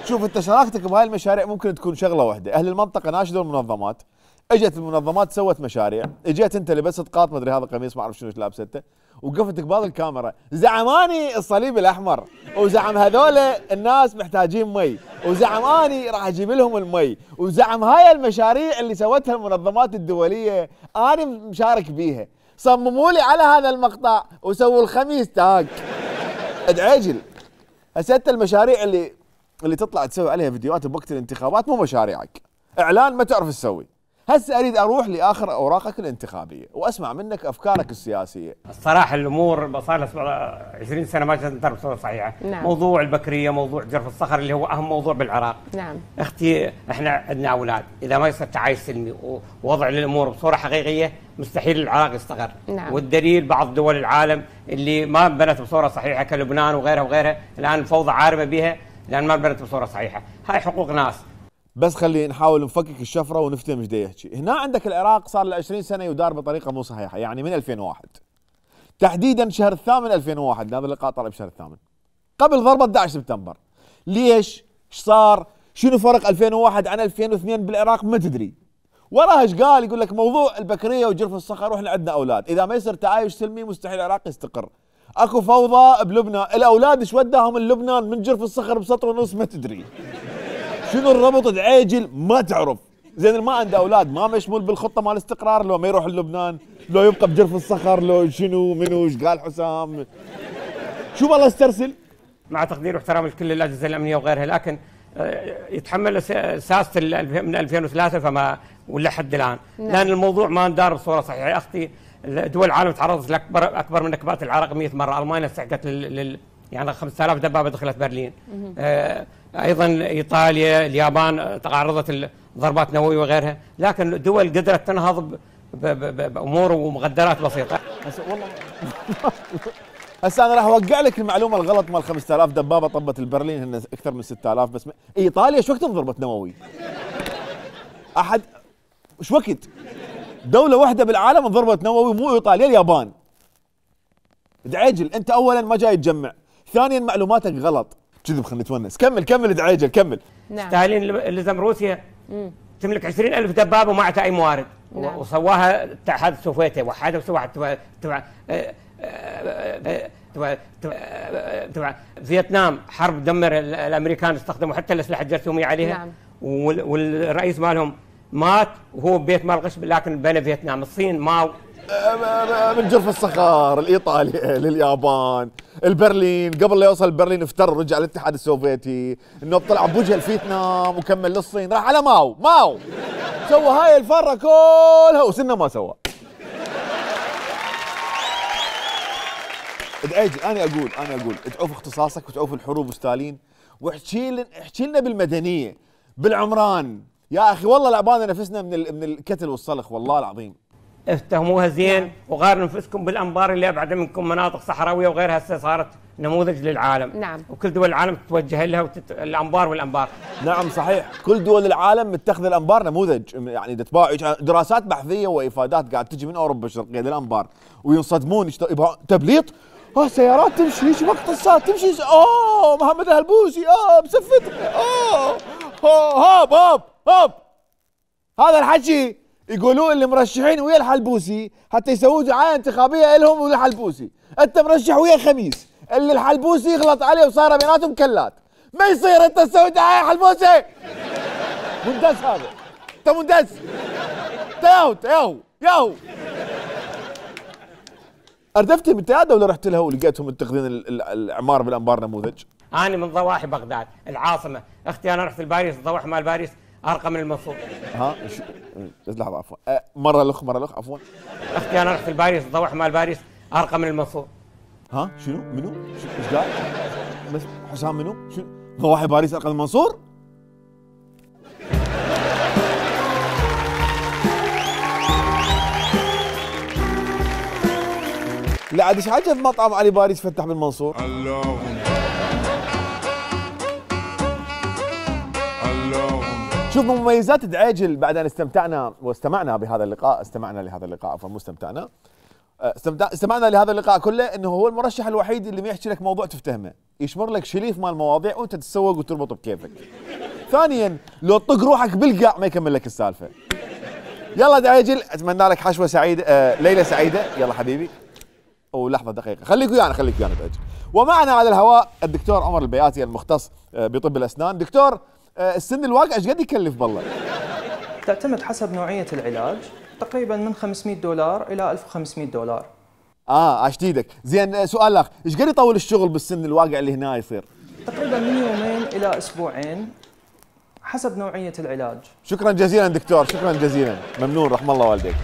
شوف انت شراكتك بهاي المشاريع ممكن تكون شغله واحده، اهل المنطقه ناشدوا المنظمات، اجت المنظمات سوت مشاريع، اجيت انت لبست قاط مدري هذا قميص ما اعرف شنو لابسته وقفت قبال الكاميرا زعماني الصليب الاحمر وزعم هذول الناس محتاجين مي وزعم اني راح اجيب لهم المي وزعم هاي المشاريع اللي سوتها المنظمات الدوليه انا مشارك بيها، صمموا لي على هذا المقطع وسووا الخميس تاك ادعجل. هسه انت المشاريع اللي اللي تطلع تسوي عليها فيديوهات بوقت الانتخابات مو مشاريعك، اعلان ما تعرف تسوي. هسه اريد اروح لاخر اوراقك الانتخابيه واسمع منك افكارك السياسيه.
الصراحه الامور صار لها عشرين سنه ما جت بصوره صحيحه. نعم. موضوع البكريه، موضوع جرف الصخر اللي هو اهم موضوع بالعراق. نعم. اختي احنا عندنا اولاد، اذا ما يصير تعايش سلمي ووضع للامور بصوره حقيقيه مستحيل العراق يستقر. نعم. والدليل بعض دول العالم اللي ما بنت بصوره صحيحه كلبنان وغيرها وغيرها، الان الفوضى عارمه بها لان ما بنت بصوره صحيحه، هاي حقوق ناس. بس خلي نحاول نفكك الشفره ونفتهم ايش يحكي. هنا عندك العراق صار له عشرين سنه يدار بطريقه مو صحيحه، يعني من ألفين وواحد تحديدا شهر الثامن ألفين وواحد، هذا اللقاء طلع بشهر الثامن قبل ضربه أحد عشر سبتمبر. ليش؟ ايش صار؟ شنو فرق ألفين وواحد عن ألفين واثنين بالعراق؟ ما تدري. وراها ايش قال؟ يقول لك موضوع البكريه وجرف الصخر واحنا عندنا اولاد، اذا ما يصير تعايش سلمي مستحيل العراق يستقر. اكو فوضى بلبنان، الاولاد ايش وداهم من لبنان من جرف الصخر بسطر ونص ما تدري. شنو الربط دعيجل ما تعرف. زين ما عنده اولاد ما مشمول بالخطه مال الاستقرار، لو ما يروح لبنان، لو يبقى بجرف الصخر، لو شنو منو ايش قال حسام. شو والله استرسل. مع تقدير واحترام لكل الاجهزه الامنيه وغيرها، لكن يتحمل ساسه من ألفين وثلاثة فما ولا حد الان. نعم. لان الموضوع ما ندار بصوره صحيحه. اختي دول العالم تعرضت لاكبر اكبر من نكبات العراق مئة مره. المانيا استحقت لل يعني خمسة آلاف دبابه دخلت برلين. آه ايضا ايطاليا، اليابان تعرضت لضربات نوويه وغيرها، لكن الدول قدرت تنهض بامور ومخدرات بسيطه. هسه والله هسه انا راح اوقع لك المعلومه الغلط مال خمسة آلاف دبابه طبت البرلين، هن اكثر من ستة آلاف بس. ايطاليا شو وقت ضربت نووي؟ احد شو وقت؟ دوله واحده بالعالم ضربت نووي مو ايطاليا، اليابان. دعيجل انت اولا ما جاي تجمع، ثانيا معلوماتك غلط. كذب خلينا نتونس. كمل كمل دعيجل كمل. نعم. ستالين لزم روسيا مم. تملك عشرين ألف دبابه وما عندها اي موارد. نعم. وسواها الاتحاد السوفيتي، وحدها وسواها تبع تبع تبع تبع فيتنام. حرب دمر الامريكان استخدموا حتى الاسلحه الجرثوميه عليها. نعم. والرئيس مالهم مات وهو ببيت مال غش، لكن بنى فيتنام. الصين ماو من جرف الصخر، الايطالي لليابان، البرلين قبل لا يوصل برلين افتر ورجع للاتحاد السوفيتي، انه طلع بوجه الفيتنام وكمل للصين، راح على ماو. ماو سوى هاي الفره كلها وسنه ما سوى. دعيجل انا اقول انا اقول ادعوا في اختصاصك وتعوف الحروب وستالين، واحكي لنا احكي لنا بالمدنيه بالعمران. يا اخي والله لعبانا نفسنا من من الكتل والصلخ والله العظيم. افتهموها زين وغاروا نفسكم بالانبار اللي ابعد منكم مناطق صحراويه وغيرها، هسه صارت نموذج للعالم.
نعم.
وكل دول العالم تتوجه لها وتت... الانبار والانبار.
نعم صحيح، كل دول العالم متخذ الانبار نموذج، يعني تتباع دراسات بحثيه وافادات قاعد تجي من اوروبا الشرقيه للانبار وينصدمون يبغى تبليط. اه سيارات تمشي هيك مقتصات تمشي، اوه محمد الهلبوسي، اه بسفتها، اه هوب هوب هوب. هذا الحكي يقولوا اللي مرشحين ويا الحلبوسي حتى يسووا دعايه انتخابيه لهم والحلبوسي. انت مرشح ويا خميس اللي الحلبوسي يغلط عليه وصار بيناتهم كلات، ما يصير انت تسوي دعايه حلبوسي. مندس هذا، انت مندس، انت ياهو ياهو ياهو. اردفت بالتياده ولا رحت لها ولقيتهم متخذين الاعمار بالانبار نموذج؟
انا من ضواحي بغداد العاصمه، اختي انا رحت لباريس، الضواحي مال باريس ارقى من المنصور.
ها بس لحظه عفوا، أه مره الاخ مره الاخ عفوا.
اختي انا رحت لباريس، الضواحي مال باريس ارقى من المنصور.
ها شنو منو؟ ايش قال؟ بس حسام منو؟ شنو؟ ضواحي باريس ارقى من المنصور؟ لا عاد ايش عجب مطعم علي باريس فتح بالمنصور؟ اللهم اللهم. شوف مميزات دعيجل بعد ان استمتعنا واستمعنا بهذا اللقاء، استمعنا لهذا اللقاء عفوا مو استمتعنا. استمعنا لهذا اللقاء كله، انه هو المرشح الوحيد اللي ما يحكي لك موضوع تفتهمه، يشمر لك شليف مال مواضيع وانت تتسوق وتربط بكيفك. ثانيا لو تطق روحك بالقاع ما يكمل لك السالفه. يلا دعيجل اتمنى لك حشوه سعيده، آه ليله سعيده، يلا حبيبي. ولحظه دقيقه خليك ويانا خليك ويانا دعيجل. ومعنا على الهواء الدكتور عمر البياتي المختص بطب الاسنان. دكتور السن الواقع ايش قد يكلف بالله؟
تعتمد حسب نوعيه العلاج، تقريبا من خمسمئة دولار الى ألف وخمسمئة دولار.
اه عشت ايدك. زين سؤال اخ، ايش قد يطول الشغل بالسن الواقع اللي هنا يصير؟
تقريبا من يومين الى اسبوعين حسب نوعيه العلاج.
شكرا جزيلا دكتور، شكرا جزيلا، ممنون رحم الله والديك.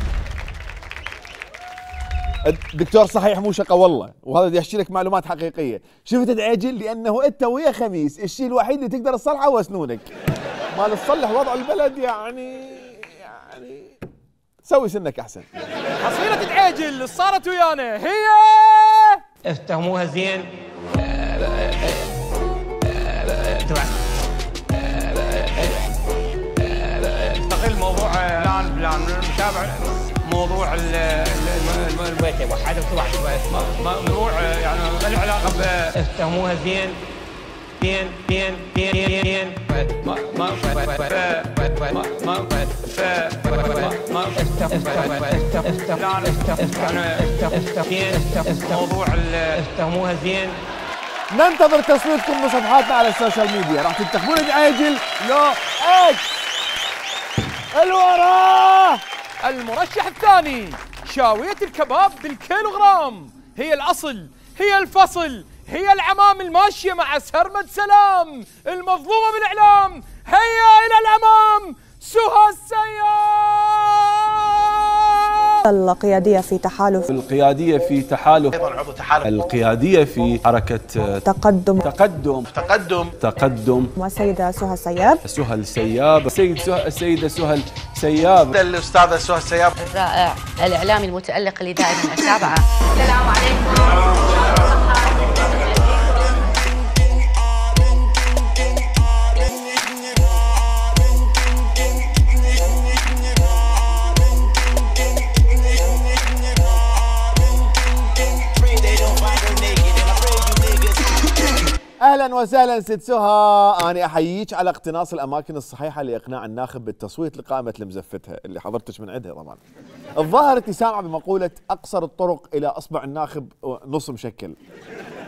الدكتور صحيح مو شقه والله، وهذا بدي احكي لك معلومات حقيقيه، شفت دعيجل لانه انت ويا خميس الشيء الوحيد اللي تقدر تصلحه هو اسنونك. ما تصلح وضع البلد يعني يعني سوي سنك احسن.
حصيلة دعيجل صارت ويانا هي
افتهموها زين. انتقل موضوع بلان بلان نتابع موضوع البيت واحد واحد موضوع يعني ما له علاقه بافتهموها زين زين زين زين زين ما ما ما موضوع افتهموها زين.
ننتظر تصويتكم بصفحاتنا على السوشيال ميديا، راح تنتخبون دعيجل لو اكس الوراه.
المرشح الثاني شاوية الكباب بالكيلوغرام، هي الأصل، هي الفصل، هي العمام الماشية مع سرمد سلام، المظلومة بالإعلام، هيا إلى الأمام سهى السياب.
القيادية في تحالف
القيادية في تحالف أيضا عضو تحالف القيادية في حركة
تقدم
تقدم تقدم تقدم
والسيدة سهى السياب
سهى السياب السيد سهى السيدة سهى السياب
الأستاذة سهى السياب
الرائع الإعلامي المتألق اللي دائما أتابعه. السلام عليكم.
اهلا وسهلا ست سهى، انا احييك على اقتناص الاماكن الصحيحه لاقناع الناخب بالتصويت لقائمه المزفتها اللي حضرتك من عندها طبعا. الظاهر انت سامعه بمقوله اقصر الطرق الى اصبع الناخب نص مشكل.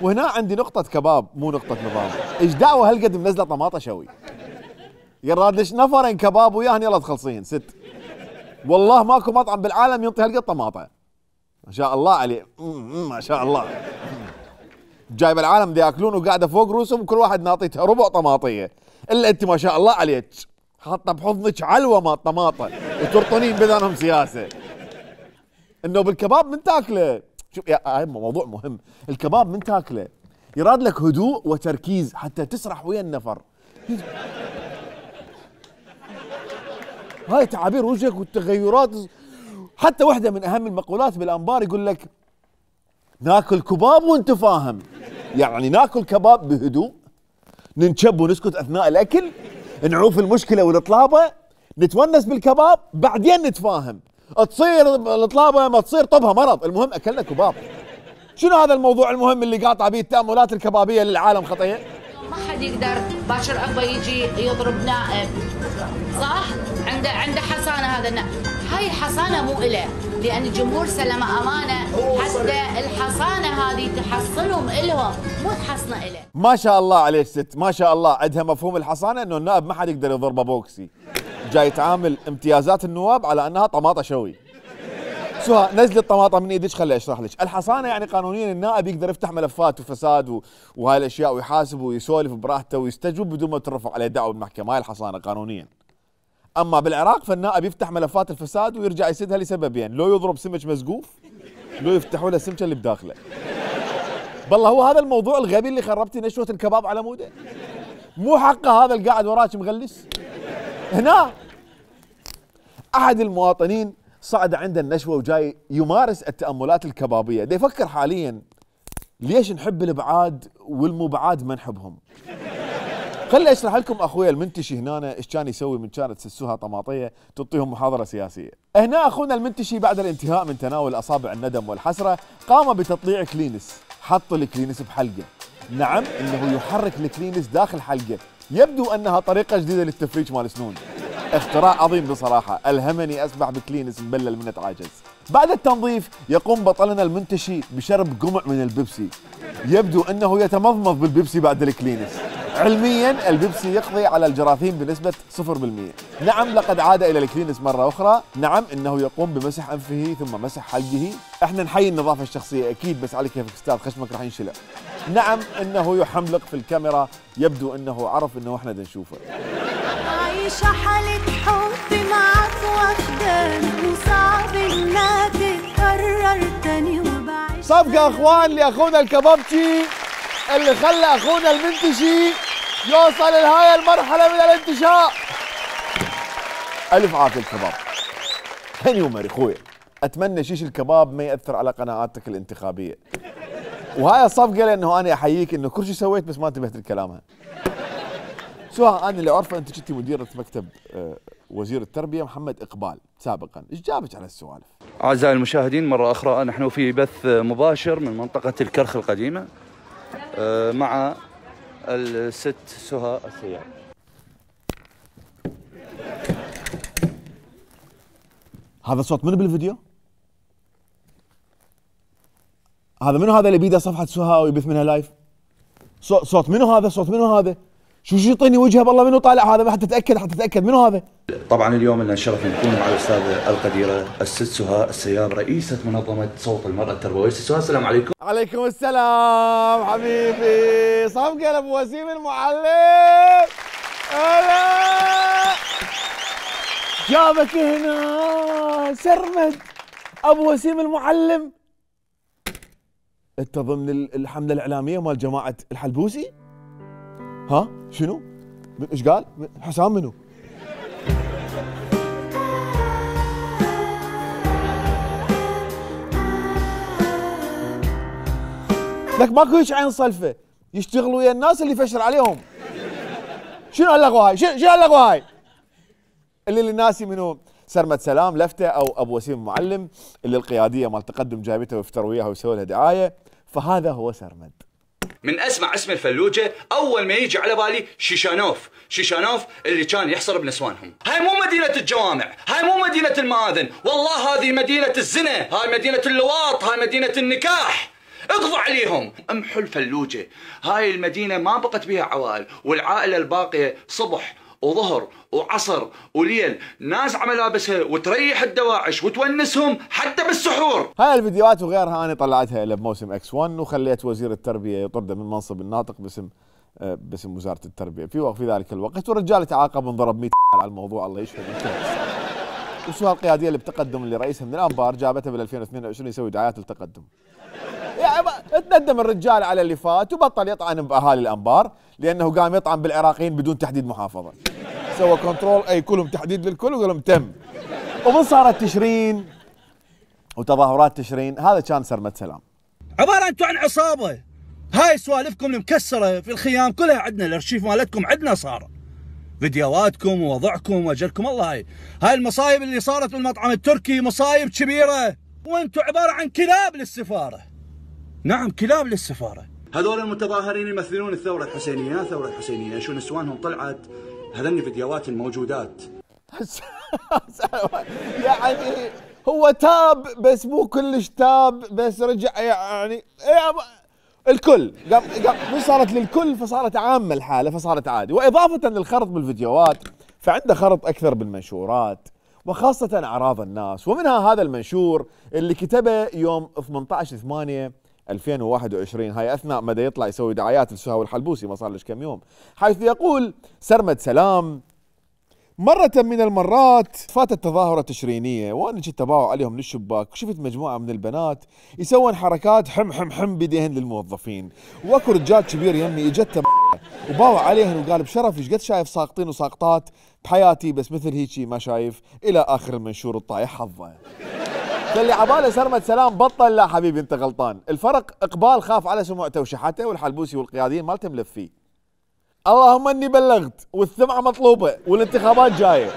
وهنا عندي نقطه كباب مو نقطه نظام. ايش دعوه هالقد منزله طماطه شوي؟ يراد ليش نفرين كباب وياهن يلا تخلصين ست. والله ماكو مطعم بالعالم ينطي هالقد طماطه. ما شاء الله عليه، ما شاء الله. جايب العالم ياكلون وقاعده فوق رؤوسهم كل واحد ناطيتها ربع طماطيه، الا انت ما شاء الله عليك حاطه بحضنك علوه مال طماطه وترطنين بذنهم سياسه. انه بالكباب من تاكله، شوف يا هاي موضوع مهم، الكباب من تاكله يراد لك هدوء وتركيز حتى تسرح ويا النفر. هاي تعابير وجهك والتغيرات حتى واحده من اهم المقولات بالانبار يقول لك ناكل كباب وانت فاهم، يعني ناكل كباب بهدوء، ننشب ونسكت اثناء الاكل، نعوف المشكله والاطلابه، نتونس بالكباب، بعدين نتفاهم. تصير الاطلابه ما تصير طبها مرض، المهم اكلنا كباب. شنو هذا الموضوع المهم اللي قاطع به التاملات الكبابيه للعالم خطيه؟
ما حد يقدر باكر اكبر يجي يضرب نائب، صح؟ عنده عنده حصانه هذا النائب، هاي الحصانه مو إله، لان الجمهور سلمه امانه حتى الحصانه هذه تحصنهم الهم مو تحصنه إله.
ما شاء الله عليك ست، ما شاء الله عندها مفهوم الحصانه انه النائب ما حد يقدر يضربه بوكسي. جاي تعامل امتيازات النواب على انها طماطه شوي. سهى نزل الطماطه من ايدك خلي اشرح لك، الحصانه يعني قانونيا النائب يقدر يفتح ملفات وفساد و... وهاي الاشياء ويحاسب ويسولف براحته ويستجوب بدون ما ترفع عليه دعوه بالمحكمه، هاي الحصانه قانونيا. اما بالعراق فالنائب يفتح ملفات الفساد ويرجع يسدها لسببين، لو يضرب سمك مسقوف، لو يفتحوا له السمكه اللي بداخله. بالله هو هذا الموضوع الغبي اللي خربتي نشوه الكباب على موده؟ مو حقه هذا اللي قاعد وراك مغلس؟ هنا احد المواطنين صعد عند النشوه وجاي يمارس التاملات الكبابيه، دا يفكر حاليا ليش نحب الابعاد والمبعاد ما نحبهم. خلي اشرح لكم اخويا المنتشي هنا ايش كان يسوي من كانت تسسوها طماطيه تعطيهم محاضره سياسيه. هنا اخونا المنتشي بعد الانتهاء من تناول اصابع الندم والحسره قام بتطليع كلينس، حط الكلينس بحلقه. نعم انه يحرك الكلينس داخل حلقه، يبدو انها طريقه جديده للتفريج مال سنون. اختراع عظيم بصراحه، الهمني اسبح بكلينس مبلل من اتعاجز. بعد التنظيف يقوم بطلنا المنتشي بشرب قمع من البيبسي، يبدو انه يتمضمض بالبيبسي بعد الكلينس. علميا البيبسي يقضي على الجراثيم بنسبه صفر بالمئة. نعم لقد عاد الى الكلينس مره اخرى. نعم انه يقوم بمسح انفه ثم مسح حلقه. احنا نحيي النظافه الشخصيه اكيد، بس على كيفك استاذ خشمك راح ينشلع. نعم انه يحملق في الكاميرا، يبدو انه عرف انه احنا بدنا نشوفه.
عايشة حالة حب معك واخداني وصعب انها تتكرر تاني وبعيش.
صفقة اخوان لاخونا الكبابجي اللي خلى اخونا المنتشي يوصل لهاي المرحلة من الانتشاء. الف عافية الكباب. هني ومري اخويا، اتمنى شيش الكباب ما ياثر على قناعاتك الانتخابية. وهاي الصفقة لانه انا احييك انه كل شيء سويت بس ما انتبهت لكلامها. سواء انا اللي عرفه انت كنتي مديره مكتب وزير التربيه محمد اقبال سابقا، ايش جابك على السوالف؟
اعزائي المشاهدين مره اخرى نحن في بث مباشر من منطقه الكرخ القديمه مع الست سهى السياب.
هذا صوت منو بالفيديو؟ هذا منو هذا اللي بيده صفحه سهى ويبث منها لايف؟ صوت منو هذا؟ صوت منو هذا؟ شو شو يعطيني وجهه بالله منو طالع هذا؟ حتى اتاكد حتى اتاكد منو هذا؟
طبعا اليوم لنا الشرف نكون مع الاستاذه القديره الست سهى السياب رئيسه منظمه صوت المراه التربويه. ست سهى السلام عليكم.
عليكم السلام حبيبي، صفقه لابو وسيم المعلم. هلا جابك هنا سرمد ابو وسيم المعلم. انت ضمن الحمله الاعلاميه مال جماعه الحلبوسي؟ ها شنو؟ ايش قال؟ حسام منو؟ لك ماكو هيك عين صلفه، يشتغلوا ويا الناس اللي يفشر عليهم. شنو هاللغوه هاي؟ شنو هاللغوه هاي؟ اللي اللي ناسي منو؟ سرمد سلام لفته او ابو وسيم المعلم اللي القياديه مال تقدم جايبته ويفتروا وياها ويسووا لها دعايه، فهذا هو سرمد.
من اسمع اسم الفلوجه اول ما يجي على بالي شيشانوف، شيشانوف اللي كان يحصر بنسوانهم. هاي مو مدينه الجوامع، هاي مو مدينه المآذن، والله هذه مدينه الزنا، هاي مدينه اللواط، هاي مدينه النكاح. اقضوا عليهم، امحوا الفلوجه. هاي المدينه ما بقت بها عوائل، والعائله الباقيه صبح وظهر وعصر وليل نازعه ملابسها وتريح الدواعش وتونسهم حتى بالسحور.
هاي الفيديوهات وغيرها انا طلعتها له بموسم اكس واحد وخليت وزير التربيه يطرده من منصب الناطق باسم باسم وزاره التربيه في في ذلك الوقت، والرجال تعاقب وانضرب مئة على الموضوع الله يشفى من وسهى القياديه اللي بتقدم اللي رئيسها من الانبار جابتها بال ألفين واثنين وعشرين يسوي دعايات التقدم. يعني تندم الرجال على اللي فات وبطل يطعن باهالي الانبار لانه قام يطعن بالعراقيين بدون تحديد محافظه. سوى كنترول اي كلهم تحديد للكل وقال لهم تم. ومن صارت تشرين وتظاهرات تشرين، هذا كان سرمد سلام.
عباره انتم عن عصابه، هاي سوالفكم المكسره في الخيام كلها عندنا، الارشيف مالتكم عندنا صار، فيديوهاتكم ووضعكم واجلكم الله. هاي هاي المصايب اللي صارت بالمطعم التركي مصايب كبيره، وانتم عباره عن كلاب للسفاره. نعم كلاب للسفاره.
هذول المتظاهرين يمثلون الثوره الحسينيه، الثوره الحسينيه شو نسوانهم طلعت، هذني فيديوهات الموجودات.
يعني هو تاب بس مو كلش تاب، بس رجع يعني الكل قام قام صارت للكل فصارت عامه الحاله فصارت عادي. واضافه للخرط بالفيديوهات فعنده خرط اكثر بالمنشورات وخاصه اعراض الناس، ومنها هذا المنشور اللي كتبه يوم ثمانية عشر ثمانية ألفين وواحد وعشرين، هاي اثناء ما يطلع يسوي دعايات لسهى الحلبوسي ما صار لش كم يوم، حيث يقول سرمد سلام: مرة من المرات فاتت تظاهرة تشرينية وانا كنت اباوع عليهم للشباك، وشفت مجموعة من البنات يسوون حركات حم حم حم بيديهن للموظفين، واكو رجال كبير يمي اجته وباوع عليهن وقال بشرف ايش قد شايف ساقطين وساقطات بحياتي بس مثل هيجي ما شايف، الى اخر المنشور الطايح حظه. فاللي عباله سرمد سلام بطل، لا حبيبي انت غلطان، الفرق اقبال خاف على سمعته وشحته والحلبوسي والقياديين مالته ملفيه. اللهم اني بلغت والثمعه مطلوبه والانتخابات جايه.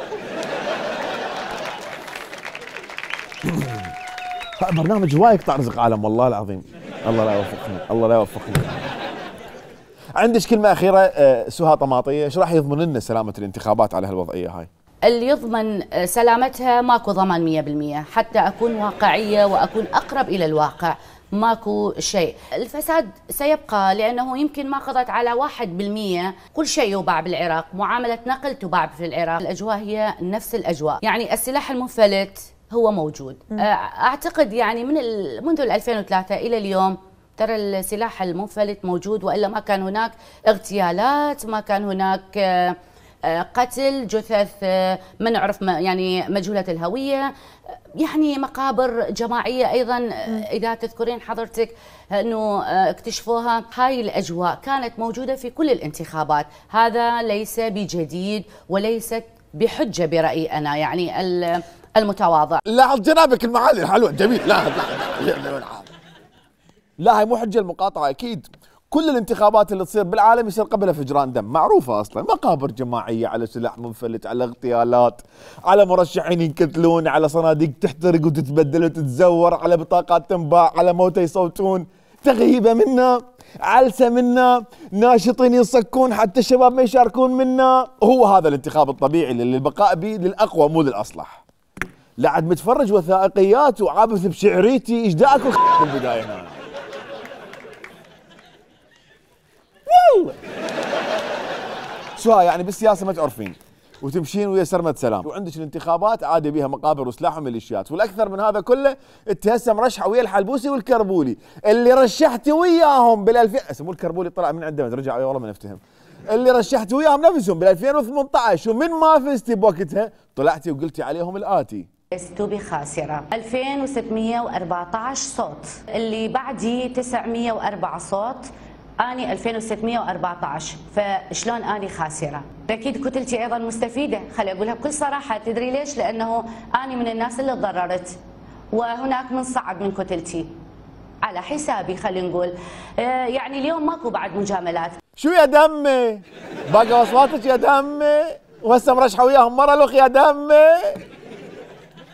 برنامج هواي يقطع رزق عالم والله العظيم. الله لا يوفقني، الله لا يوفقني. عندك كلمه اخيره سهى طماطيه، ايش راح يضمن لنا سلامه الانتخابات على هالوضعيه هاي؟
اللي يضمن سلامتها ماكو ضمان مية بالمية، حتى اكون واقعيه واكون اقرب الى الواقع. ماكو شيء، الفساد سيبقى لأنه يمكن ما قضت على واحد بالمية، كل شيء يباع بالعراق، معاملة نقل تباع في العراق، الأجواء هي نفس الأجواء، يعني السلاح المنفلت هو موجود. أعتقد يعني من منذ ألفين وثلاثة إلى اليوم ترى السلاح المنفلت موجود، وإلا ما كان هناك اغتيالات، ما كان هناك قتل، جثث ما نعرف يعني مجهولة الهوية، يعني مقابر جماعية أيضا إذا تذكرين حضرتك أنه اكتشفوها. هاي الأجواء كانت موجودة في كل الانتخابات، هذا ليس بجديد وليست بحجة برأيي أنا يعني المتواضع.
لا جنابك المعالي الحلوة جميل، لا لا لا لا هاي مو حجة المقاطعة أكيد. كل الانتخابات اللي تصير بالعالم يصير قبلها فجران دم، معروفة أصلا، مقابر جماعية، على سلاح منفلت، على اغتيالات، على مرشحين ينقتلون، على صناديق تحترق وتتبدل وتتزور، على بطاقات تنباع، على موتى يصوتون، تغيبة منا، علسة منا، ناشطين يصكون حتى الشباب ما يشاركون منا. هو هذا الانتخاب الطبيعي اللي البقاء به للأقوى مو للأصلح. لعد متفرج وثائقيات وعابث بشعريتي، ايش داك في البداية هنا؟ شو يعني بالسياسه ما تعرفين وتمشين ويا سرمد سلام، وعندك الانتخابات عادي بيها مقابر وسلاح وميليشيات، والاكثر من هذا كله انت هسه مرشحه ويا الحلبوسي والكربولي اللي رشحتي وياهم بال2000 اسمه الكربولي طلع من عندنا رجع والله ما نفتهم، اللي رشحتي وياهم نفسهم بال2018 ومن ما فزتي بوقتها طلعتي وقلتي عليهم الاتي:
لست بخاسرة، ألفين وستمية وأربعة عشر صوت، اللي بعدي تسعمية وأربعة صوت، أني ألفين وستمية وأربعة عشر، فشلون أني خاسرة؟ أكيد كتلتي أيضا مستفيدة، خلي أقولها بكل صراحة، تدري ليش؟ لأنه أني من الناس اللي تضررت، وهناك من صعد من كتلتي على حسابي، خلينا نقول آه يعني اليوم ماكو بعد مجاملات.
شو يا دمي؟ باقي أصواتك يا دمي؟ وهسه مرشحة وياهم مرة لوخ يا دمي؟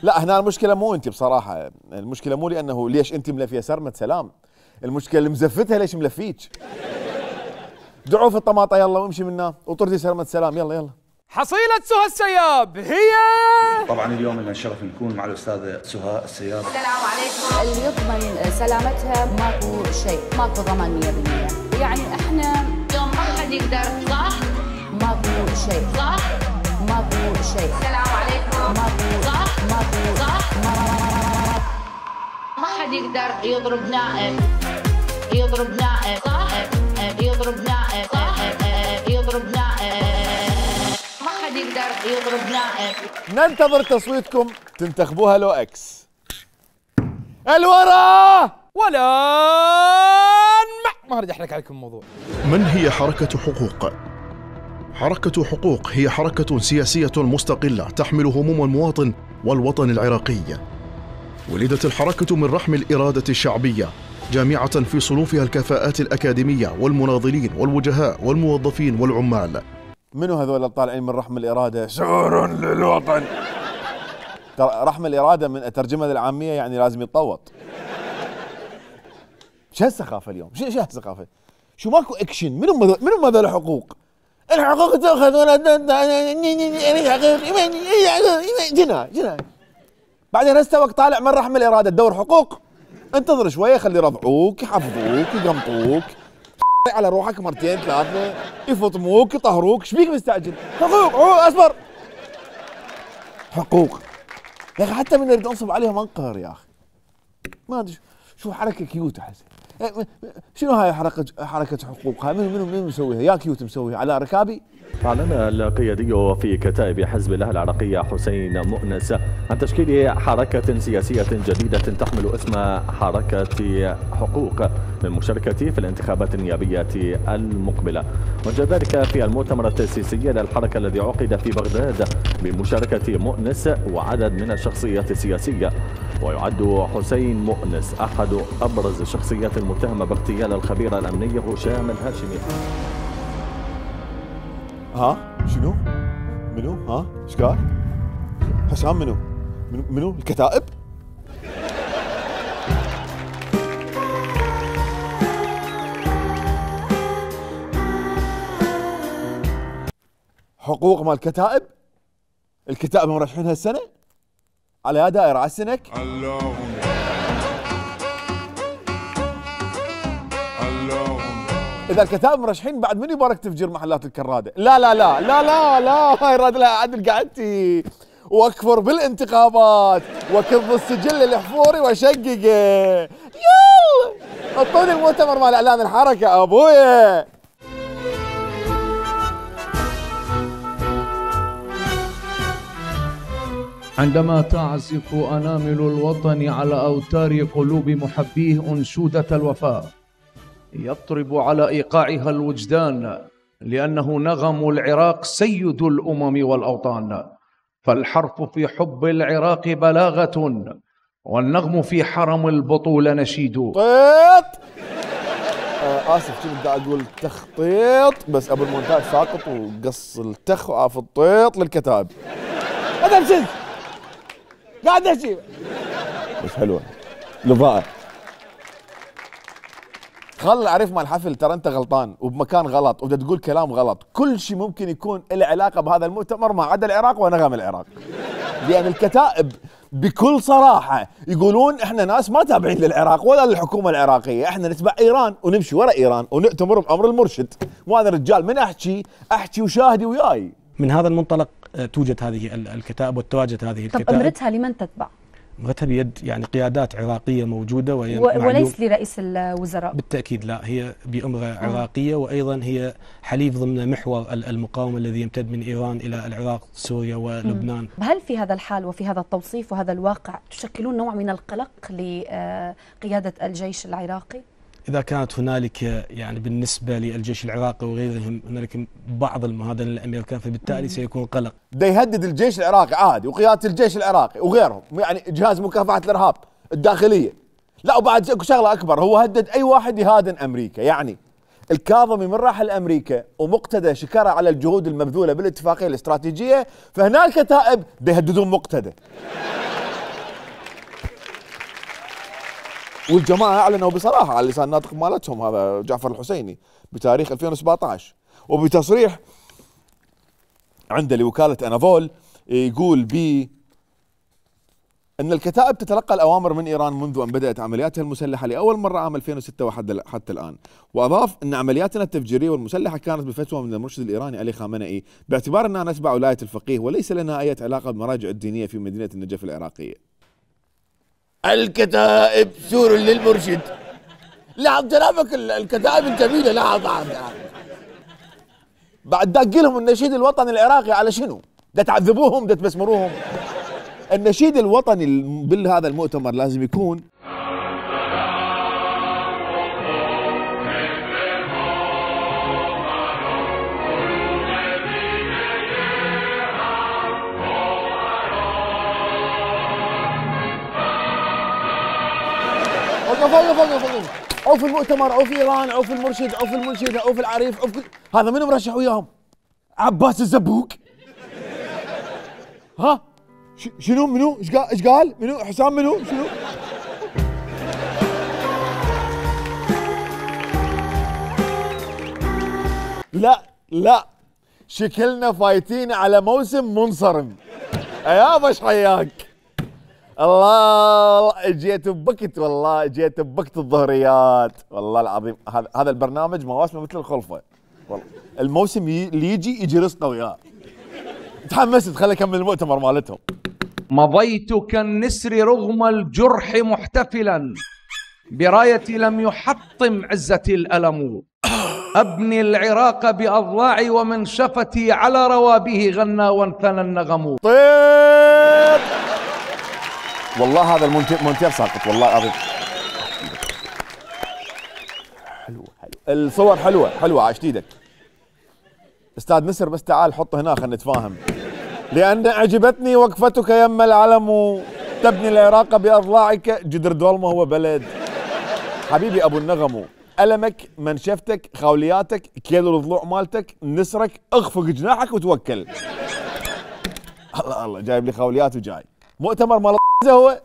لا هنا المشكلة مو أنت بصراحة، المشكلة مو لأنه ليش أنت ملفية سرمد سلام، المشكلة اللي مزفتها ليش ملفيك. دعوا في الطماطة يلا وامشي منا وطردي سرمد سلام يلا يلا.
حصيلة سهى السياب هي
طبعا اليوم لنا الشرف نكون مع الأستاذة سهى السياب.
السلام عليكم. اللي يضمن سلامتها ماكو شيء، ماكو ضمان مية بالمية، يعني احنا اليوم ما حد يقدر صح؟ ماكو شيء صح؟ ماكو شيء. السلام عليكم. ماكو صح؟ ماكو صح؟ ما حد يقدر يضرب نائب، يضرب نائب صح؟ يضرب نائب صح؟ يضرب نائب، ما حد يقدر يضرب نائب.
ننتظر تصويتكم، تنتخبوها لو اكس. الورا
ولا ما اريد احرق عليكم الموضوع.
من هي حركة حقوق؟ حركة حقوق هي حركة سياسية مستقلة تحمل هموم المواطن والوطن العراقي. ولدت الحركة من رحم الإرادة الشعبية، جامعة في صنوفها الكفاءات الأكاديمية والمناضلين والوجهاء والموظفين والعمال.
منو هذول الطالعين من رحم الإرادة؟ شعور للوطن. رحم الإرادة من أترجمها للعامية يعني لازم يتطوط. شو هالسخافة اليوم؟ شو شو هالسخافة؟ شو ماكو اكشن؟ منو منو هذول الحقوق؟ الحقوق تاخذ ولا جنا جنا. بعدين هسه وقت طالع من رحم الإرادة تدور حقوق؟ انتظر شوية خلي يرضعوك، يحفظوك، يقمطوك، على روحك مرتين ثلاثة، يفطموك، يطهروك، ايش بيك مستعجل؟ حقوق، اصبر. حقوق. يا اخي حتى من نريد ننصب عليهم انقهر يا اخي. ما ادري شو حركة كيوت احس. شنو هاي حركة حركة حقوق؟ هاي منو منو منو مسويها؟ يا كيوت مسويها على ركابي؟
أعلن القيادي في كتائب حزب الله العراقية حسين مؤنس عن تشكيل حركة سياسية جديدة تحمل اسم حركة حقوق للمشاركة في الانتخابات النيابية المقبلة. وجاء ذلك في المؤتمر التأسيسي للحركة الذي عقد في بغداد بمشاركة مؤنس وعدد من الشخصيات السياسية. ويعد حسين مؤنس أحد أبرز الشخصيات المتهمة باغتيال الخبير الأمني هشام الهاشمي.
ها شنو؟ منو؟ ها؟ ايش قال؟ هشام منو؟ منو؟ منو؟ الكتائب؟ حقوق مال الكتائب؟ الكتائب مرشحين هالسنة؟ على يا دائرة على السنك؟ اللهم إذا الكتائب مرشحين بعد من يبارك تفجير محلات الكرادة؟ لا لا لا لا لا لا هاي راد لها عدل قعدتي واكفر بالانتخابات وكظ السجل الحفوري واشققه. يلا اعطوني المؤتمر مال اعلان الحركة ابويا.
عندما تعزف أنامل الوطن على أوتار قلوب محبيه أنشودة الوفاء، يطرب على إيقاعها الوجدان، لأنه نغم العراق سيد الأمم والأوطان. فالحرف في حب العراق بلاغة، والنغم في حرم البطولة نشيد.
طيط آه آسف كنت بدي أقول تخطيط بس قبل المونتاج ساقط وقص التخ وعاف الطيط للكتاب. هذا بسز قاعد أشي بس حلوة لضاء. خل اعرف مال الحفل ترى انت غلطان وبمكان غلط وبدك تقول كلام غلط. كل شيء ممكن يكون له علاقه بهذا المؤتمر ما عدا العراق ونغم العراق. لان الكتائب بكل صراحه يقولون احنا ناس ما تابعين للعراق ولا للحكومه العراقيه، احنا نتبع ايران ونمشي ورا ايران ونأتمر بامر المرشد. وانا رجال من احكي احكي وشاهدي وياي.
من هذا المنطلق توجد هذه الكتائب وتواجد هذه الكتائب.
طب امرتها لمن تتبع؟
امرتها بيد يعني قيادات عراقيه موجوده وهي
و... وليس لرئيس الوزراء.
بالتاكيد لا، هي بامره عراقيه وايضا هي حليف ضمن محور المقاومه الذي يمتد من ايران الى العراق سوريا ولبنان.
هل في هذا الحال وفي هذا التوصيف وهذا الواقع تشكلون نوع من القلق لقياده الجيش العراقي؟
إذا كانت هنالك يعني بالنسبة للجيش العراقي وغيرهم هنالك بعض المهادنة للأمريكان فبالتالي سيكون قلق.
ده يهدد الجيش العراقي عادي وقيادة الجيش العراقي وغيرهم، يعني جهاز مكافحة الإرهاب الداخلية. لا وبعد اكو شغلة أكبر، هو هدد أي واحد يهادن أمريكا. يعني الكاظمي من راح لأمريكا ومقتدى شكرا على الجهود المبذولة بالاتفاقية الاستراتيجية، فهنا الكتائب ده يهددون مقتدى. والجماعة أعلنوا بصراحة على لسان الناطق مالتهم هذا جعفر الحسيني بتاريخ ألفين وسبعطعش وبتصريح عنده لوكالة أنافول يقول ب أن الكتائب تتلقى الأوامر من إيران منذ أن بدأت عملياتها المسلحة لأول مرة عام ألفين وستة وحتى الآن. وأضاف أن عملياتنا التفجيرية والمسلحة كانت بفتوى من المرشد الإيراني علي خامنئي باعتبار أننا نتبع ولاية الفقيه وليس لنا أي علاقة بالمراجع الدينية في مدينة النجف العراقية. الكتائب سور للمرشد. لاحظ جنابك الكتائب الجميلة. لاحظ بعد دق لهم النشيد الوطني العراقي على شنو؟ ده تعذبوهم ده تبسمروهم. النشيد الوطني بهذا المؤتمر لازم يكون فوق فوق فوق فوق او في المؤتمر او في ايران او في المرشد او في المنشده او في العريف او في كل هذا منو مرشح وياهم؟ عباس الزبوق. ها شنو منو؟ ايش قال؟ ايش قال؟ منو؟ حسام منو؟ شنو؟ لا لا شكلنا فايتين على موسم منصرم. يا باش حياك. الله جيت ببكت والله جيت ببكت الظهريات والله العظيم. هذا هذا البرنامج مواسمه مثل الخلفه والله. الموسم اللي يجي يجي رزقه وياه. تحمست خلي اكمل المؤتمر مالتهم.
مضيت كالنسر رغم الجرح محتفلا برايتي لم يحطم عزتي الألم. أبني العراق بأضلاعي ومن شفتي على روابه غنى وانثنى النغم.
طيب والله هذا المونتير ساقط والله العظيم. حلوه حلوه الصور حلوه حلوه عاش ايدك استاذ نسر. بس تعال حطه هنا خلينا نتفاهم. لأن أعجبتني وقفتك يم العلم تبني العراق بأضلاعك. جدر دولمه هو بلد. حبيبي أبو النغم ألمك منشفتك خولياتك كيلو الضلوع مالتك نسرك اخفق جناحك وتوكل. الله الله جايب لي خوليات وجاي مؤتمر مال هو.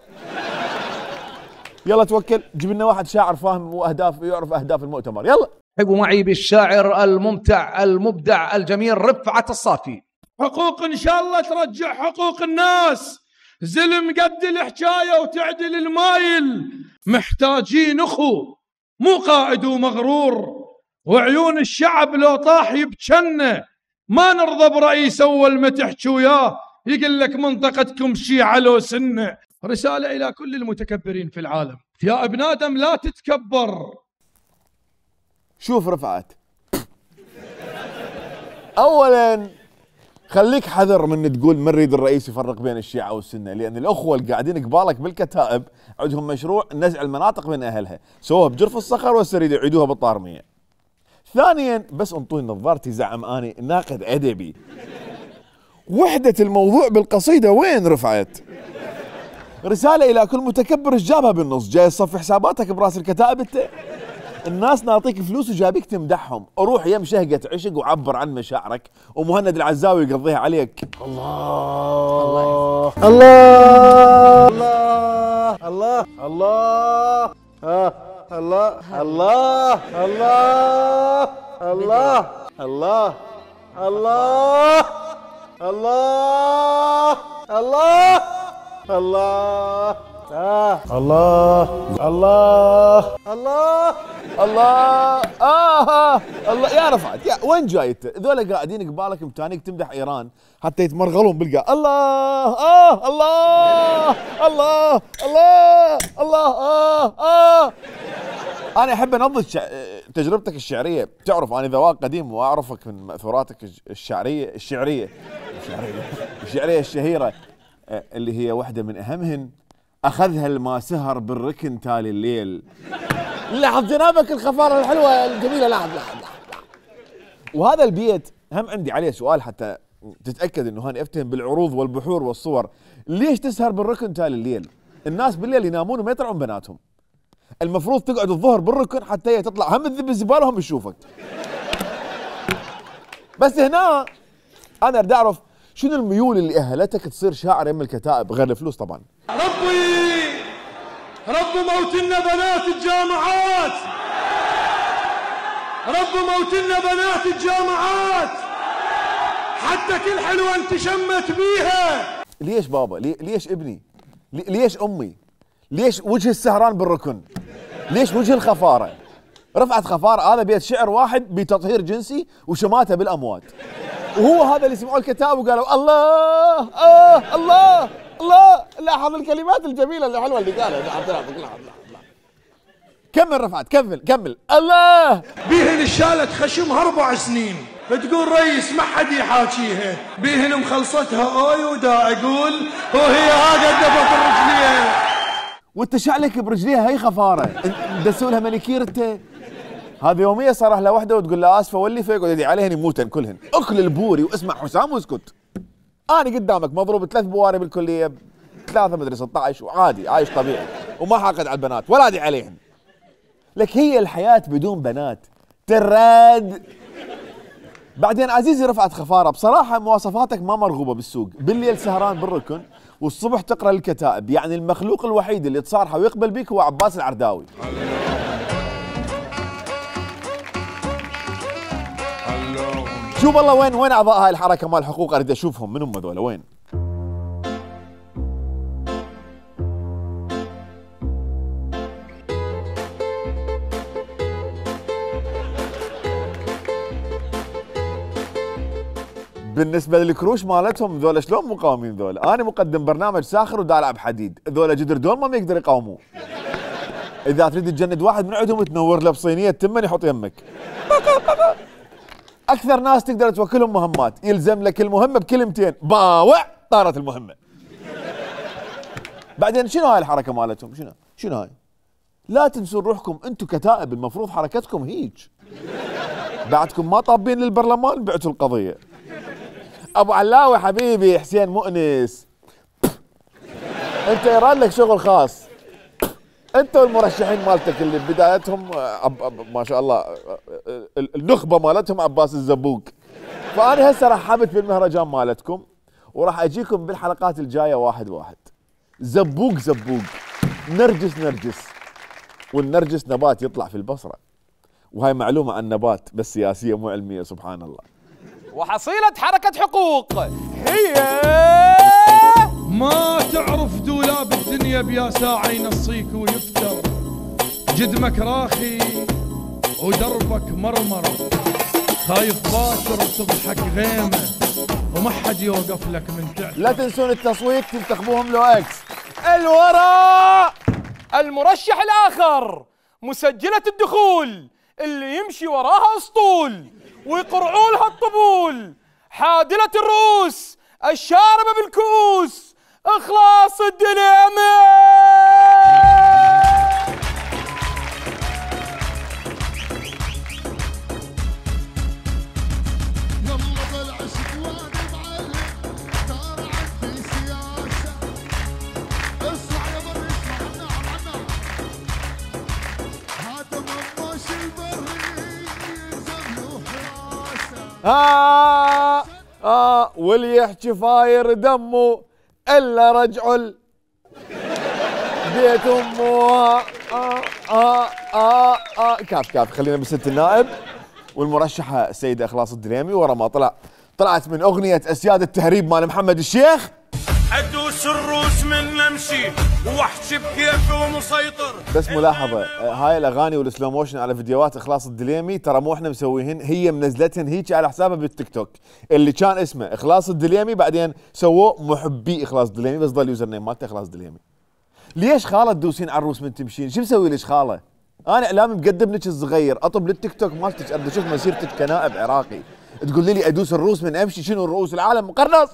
يلا توكل جيب لنا واحد شاعر فاهم واهداف يعرف اهداف المؤتمر. يلا
حبوا معي بالشاعر الممتع المبدع الجميل رفعت الصافي.
حقوق ان شاء الله ترجع حقوق الناس. زلم قد الحكايه وتعدل المايل. محتاجين اخو مو قائد ومغرور. وعيون الشعب لو طاح يبجنه. ما نرضى برئيس اول ما تحكي وياه يقول لك منطقتكم شيعة لو سنه. رساله الى كل المتكبرين في العالم. يا ابن ادم لا تتكبر.
شوف رفعت اولا خليك حذر من تقول من نريد الرئيس يفرق بين الشيعة والسنة. لأن الأخوة اللي قاعدين قبالك بالكتائب عندهم مشروع نزع المناطق بين أهلها. سووها بجرف الصخر وهسه يريدوا يعيدوها بالطارمية. ثانيا بس انطوني نظارتي زعم أني ناقد أدبي. وحدة الموضوع بالقصيدة وين رفعت؟ رسالة إلى كل متكبر ايش جابها بالنص؟ جاي تصفي حساباتك براس الكتائب انت؟ الناس نعطيك فلوس وجابيك تمدحهم. روح يم شهقة عشق وعبر عن مشاعرك ومهند العزاوي يقضيها عليك. الله الله الله الله الله الله الله الله الله الله الله الله الله الله آه. الله الله الله الله آه الله يا رفعت يا وين جايت؟ ذولا قاعدين قبالك متانيك تمدح ايران حتى يتمرغلون بالقاع. الله اه الله الله الله الله اه اه انا احب انضج شع... تجربتك الشعريه. تعرف انا ذواق قديم واعرفك من ماثوراتك الشعريه الشعريه الشعريه الشعريه الشهيره اللي هي واحده من اهمهن. اخذها الما سهر بالركن تالي الليل. لاحظ جنابك الخفاره الحلوه الجميله. لاحظ لاحظ لاحظ. وهذا البيت هم عندي عليه سؤال حتى تتاكد انه هاني افتهم بالعروض والبحور والصور. ليش تسهر بالركن تالي الليل؟ الناس بالليل ينامون وما يطلعون بناتهم. المفروض تقعد الظهر بالركن حتى هي تطلع هم تذب الزباله وهم يشوفك. بس هنا انا اريد اعرف شنو الميول اللي اهلتك تصير شاعر يم الكتائب غير الفلوس طبعا.
ربي رب موتنا بنات الجامعات. رب موتنا بنات الجامعات حتى كل حلوه انت شمت بيها.
ليش بابا؟ ليش ابني؟ ليش امي؟ ليش وجه السهران بالركن؟ ليش وجه الخفاره؟ رفعت خفاره هذا بيت شعر واحد بتطهير جنسي وشماته بالاموات. وهو هذا اللي سمعوا الكتاب وقالوا الله آه الله الله. لاحظ الكلمات الجميله الحلوه اللي قالها. كمل رفعت كمل كمل. الله
بيهن الشالت خشمها اربع سنين بتقول ريس ما حد يحاكيها. بيهن مخلصتها اوي ودا اقول وهي هاقه دفت الرجلين.
وانت شعلك برجليها هي خفاره دسوا لها مانيكير انت. هذه يوميه صار لها وحده وتقول لها اسفه ولي فيك وتدعي عليهن يموتن كلهن. اكل البوري واسمع حسام واسكت. انا قدامك مضروب ثلاث بواري بالكليه ثلاثه مدري ستة عشر وعادي عايش طبيعي وما حاقد على البنات ولا ادعي عليهن. لك هي الحياة بدون بنات تراد. بعدين عزيزي رفعت خفارة، بصراحة مواصفاتك ما مرغوبة بالسوق، بالليل سهران بالركن والصبح تقرأ الكتائب، يعني المخلوق الوحيد اللي تصارحه ويقبل بيك هو عباس العرداوي. شوف والله وين وين أعضاء هاي الحركة مال الحقوق، أريد أشوفهم من هم هذول وين؟ بالنسبة للكروش مالتهم ذولا شلون مقاومين ذولا؟ أنا مقدم برنامج ساخر ودال ألعب حديد، ذولا جدر دول ما يقدر يقاوموه. إذا تريد تجند واحد من عندهم تنور له بصينية تمن يحط يمك. أكثر ناس تقدر توكلهم مهمات، يلزم لك المهمة بكلمتين، باوع طارت المهمة. بعدين شنو هاي الحركة مالتهم؟ شنو؟ شنو هاي؟ لا تنسون روحكم أنتم كتائب، المفروض حركتكم هيج. بعدكم ما طابين للبرلمان بعتوا القضية. ابو علاوي حبيبي حسين مؤنس، انت يراد لك شغل خاص، انت والمرشحين مالتك اللي بدايتهم ما شاء الله النخبه مالتهم عباس الزبوق. فانا هسه رحبت بالمهرجان مالتكم وراح اجيكم بالحلقات الجايه واحد واحد، زبوق زبوق، نرجس نرجس، والنرجس نبات يطلع في البصره، وهاي معلومه عن نبات بس سياسيه مو علميه سبحان الله.
وحصيلة حركة حقوق هي
ما تعرف دولاب الدنيا بيا ساعة ينصيك ويفتر، جدمك راخي ودربك مرمر، خايف باكر وتضحك غيمة وما حد يوقف لك من تحت.
لا تنسون التصويت تنتخبوهم لو اكس. الوراء
المرشح الآخر مسجلة الدخول اللي يمشي وراها اسطول ويقرعوا لها الطبول، حادلة الرؤوس الشاربة بالكؤوس، إخلاص الدليمي.
آه آه واللي يحكي فاير دمه إلا رجعوا بيت أمه. آه آه آه آه كاف كاف. خلينا بست النائب والمرشحة السيدة إخلاص الدليمي. ورا ما طلع طلعت من أغنية أسياد التهريب مال محمد الشيخ،
أدوس الروس من نمشي وأحكي بكيفي ومسيطر.
بس ملاحظة هاي الأغاني والسلو موشن على فيديوهات إخلاص الدليمي ترى مو إحنا مسويهن، هي منزلتهن هيك على حسابها بالتيك توك اللي كان اسمه إخلاص الدليمي، بعدين سووه محبي إخلاص الدليمي بس ضل يوزر نيم مالته إخلاص الدليمي. ليش خالة تدوسين على الروس من تمشين؟ شو مسوي ليش خالة؟ أنا إعلامي مقدم لك الصغير، أطب للتيك توك مالتك أبدا أشوف مسيرتك كنائب عراقي، تقول لي أدوس الروس من أمشي؟ شنو الرؤوس العالم مقرنص؟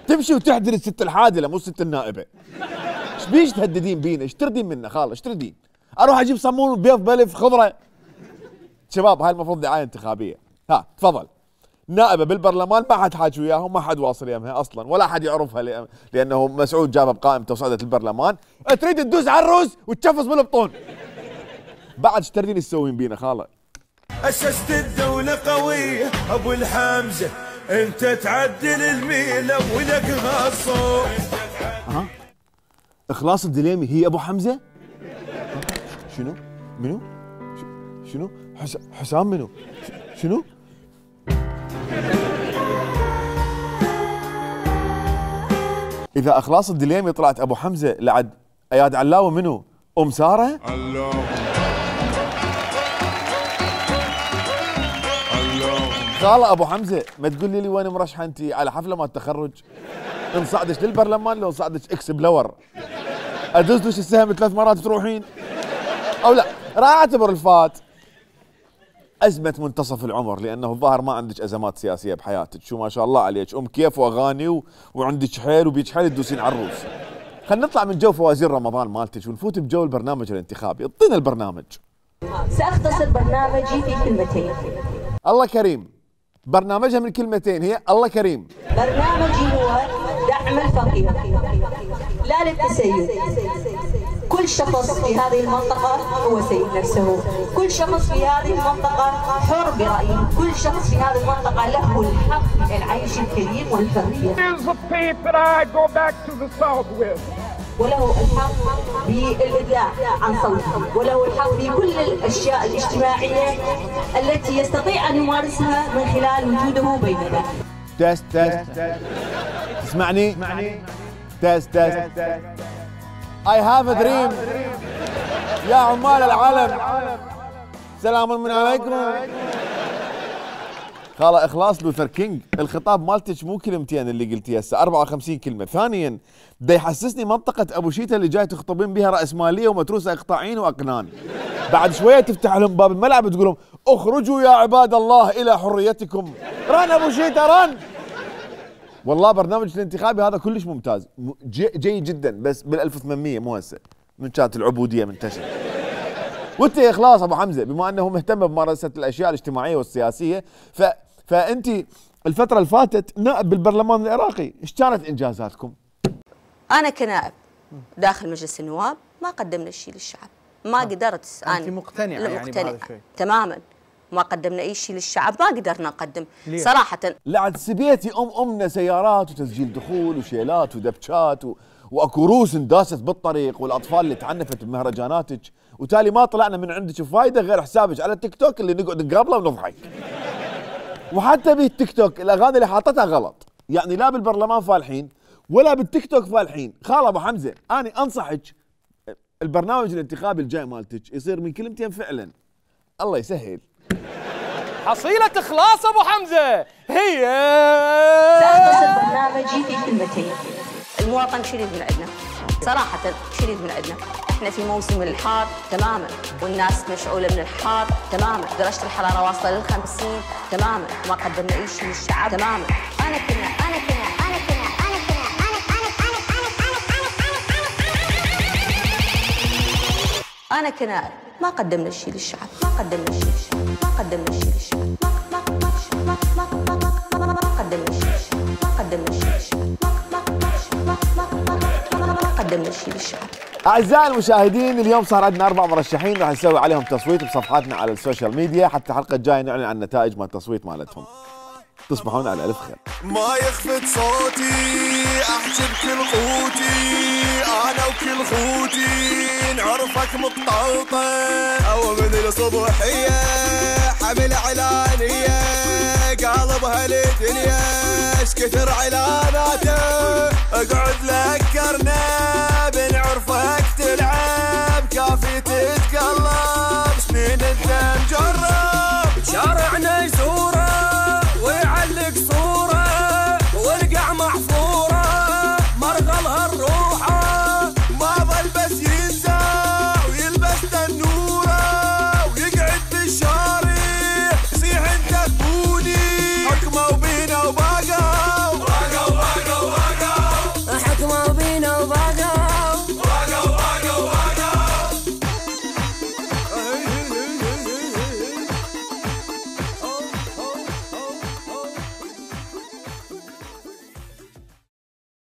تمشي وتحدري الست الحادله مو الست النائبه. ايش بيش تهددين بينا؟ ايش تردين منا خاله؟ ايش تردين؟ اروح اجيب صمون بيض بلف خضره؟ شباب هاي المفروض دعايه انتخابيه. ها تفضل. نائبه بالبرلمان ما حد حاجي وياهم، ما حد واصل يمها اصلا ولا حد يعرفها لانه مسعود جابها بقائمته وصعدت البرلمان. تريد تدوس على الروس وتشفص بالبطون. بعد ايش تردين تسوين بينا خاله؟
اسست الدوله قويه ابو الحمزه، انت تعدل الميله ولقها الصوت.
ها إخلاص الدليمي هي ابو حمزه؟ شنو؟ منو؟ شنو؟ حس... حسام منو؟ شنو؟ اذا إخلاص الدليمي طلعت ابو حمزه لعد اياد علاوي منو؟ ام ساره؟ علاوي خاله ابو حمزه ما تقولي لي وين مرشحه انت على حفله مال التخرج؟ انصعدش للبرلمان لو انصعدش اكس بلور ادوسلش السهم ثلاث مرات تروحين او لا؟ راح اعتبر الفات ازمه منتصف العمر، لانه الظاهر ما عندك ازمات سياسيه بحياتك، شو ما شاء الله عليك ام كيف واغاني و... وعندك حيل وبيك حيل تدوسين على الروس. خلينا نطلع من جو فوازير رمضان مالتك ونفوت بجو البرنامج الانتخابي. اعطينا البرنامج.
ساختصر برنامجي في كلمتين.
الله كريم. برنامجها من كلمتين هي الله كريم.
برنامجي هو دعم الفقير لا للتسيد. كل شخص في هذه المنطقة هو سيد نفسه، كل شخص في هذه المنطقة حر برأيه، كل شخص في هذه المنطقة له الحق العيش الكريم والحرية. وله الحق بالإدلاء عن صوته، وله الحق بكل الأشياء الاجتماعية التي يستطيع أن يمارسها من خلال وجوده بيننا.
تست تست تسمعني؟ تست تست I have a dream يا عمال العالم، سلام من عليكم. خاله إخلاص لوثر كينج، الخطاب مالتك مو كلمتين اللي قلتيها هسه، أربعة وخمسين كلمة. ثانيا دا يحسسني منطقة أبو شيتا اللي جاي تخطبين بها رأسمالية ومتروسة إقطاعين وأقنان. بعد شوية تفتح لهم باب الملعب وتقول لهم اخرجوا يا عباد الله إلى حريتكم. رن أبو شيتا رن. والله برنامج الانتخابي هذا كلش ممتاز، جيد جدا، بس بال ألف وثمانمية مو هسه، من كانت العبودية منتشرة. وانت يا إخلاص أبو حمزة بما أنه مهتم بممارسة الأشياء الاجتماعية والسياسية، ف فأنت الفترة اللي فاتت نائب بالبرلمان العراقي، ايش كانت إنجازاتكم؟
أنا كنائب داخل مجلس النواب ما قدمنا شيء للشعب، ما قدرت أنا.
أنت مقتنعة يعني بهذا الشيء؟
تماما، ما قدمنا أي شيء للشعب، ما قدرنا نقدم
ليه؟
صراحة.
لعد سبيتي أم أمنا سيارات وتسجيل دخول وشيلات ودبشات و... واكو روس انداست بالطريق، والاطفال اللي تعنفت بمهرجاناتك، وتالي ما طلعنا من عندك فايده غير حسابك على التيك توك اللي نقعد نقابله ونضحك. وحتى بالتيك توك الاغاني اللي حاطتها غلط، يعني لا بالبرلمان فالحين ولا بالتيك توك فالحين. خال ابو حمزه انا انصحك البرنامج الانتخابي الجاي مالتك يصير من كلمتين فعلا. الله يسهل.
حصيلة إخلاص أبو حمزة هي
سأختصر برنامجي في كلمتين.
المواطن شريد من عندنا صراحة، شريد من عندنا. احنا في موسم الحار تماما، والناس مشعولة من الحار تماما، درجة الحرارة واصلة للخمسين تماما، ما قدمنا أي شيء للشعب تماما. أنا كنا أنا كنا أنا كنا أنا كنا أنا أنا أنا أنا أنا أنا كنا ما قدمنا شيء للشعب، ما قدمنا شيء للشعب، ما قدمنا شيء للشعب، ما ما ما ما ما ما ما قدمنا شيء للشعب، ما قدمنا شيء للشعب، ما ما ما ما قدمنا شيء للشعب.
أعزائي المشاهدين، اليوم صار عندنا أربع مرشحين راح نسوي عليهم تصويت بصفحاتنا على السوشيال ميديا، حتى الحلقة الجاية نعلن عن النتائج مال التصويت مالتهم. تصبحون على ألف خير.
ما يخفت صوتي أحجب كل قوتي، أنا وكل خوتي نعرفك متطوطن، أو من الصبحية حمل إعلانية قالبها للدنيا ايش كثر إعلاناته، اقعد ذكرنا بنعرفك تلعب كافي تتقلب.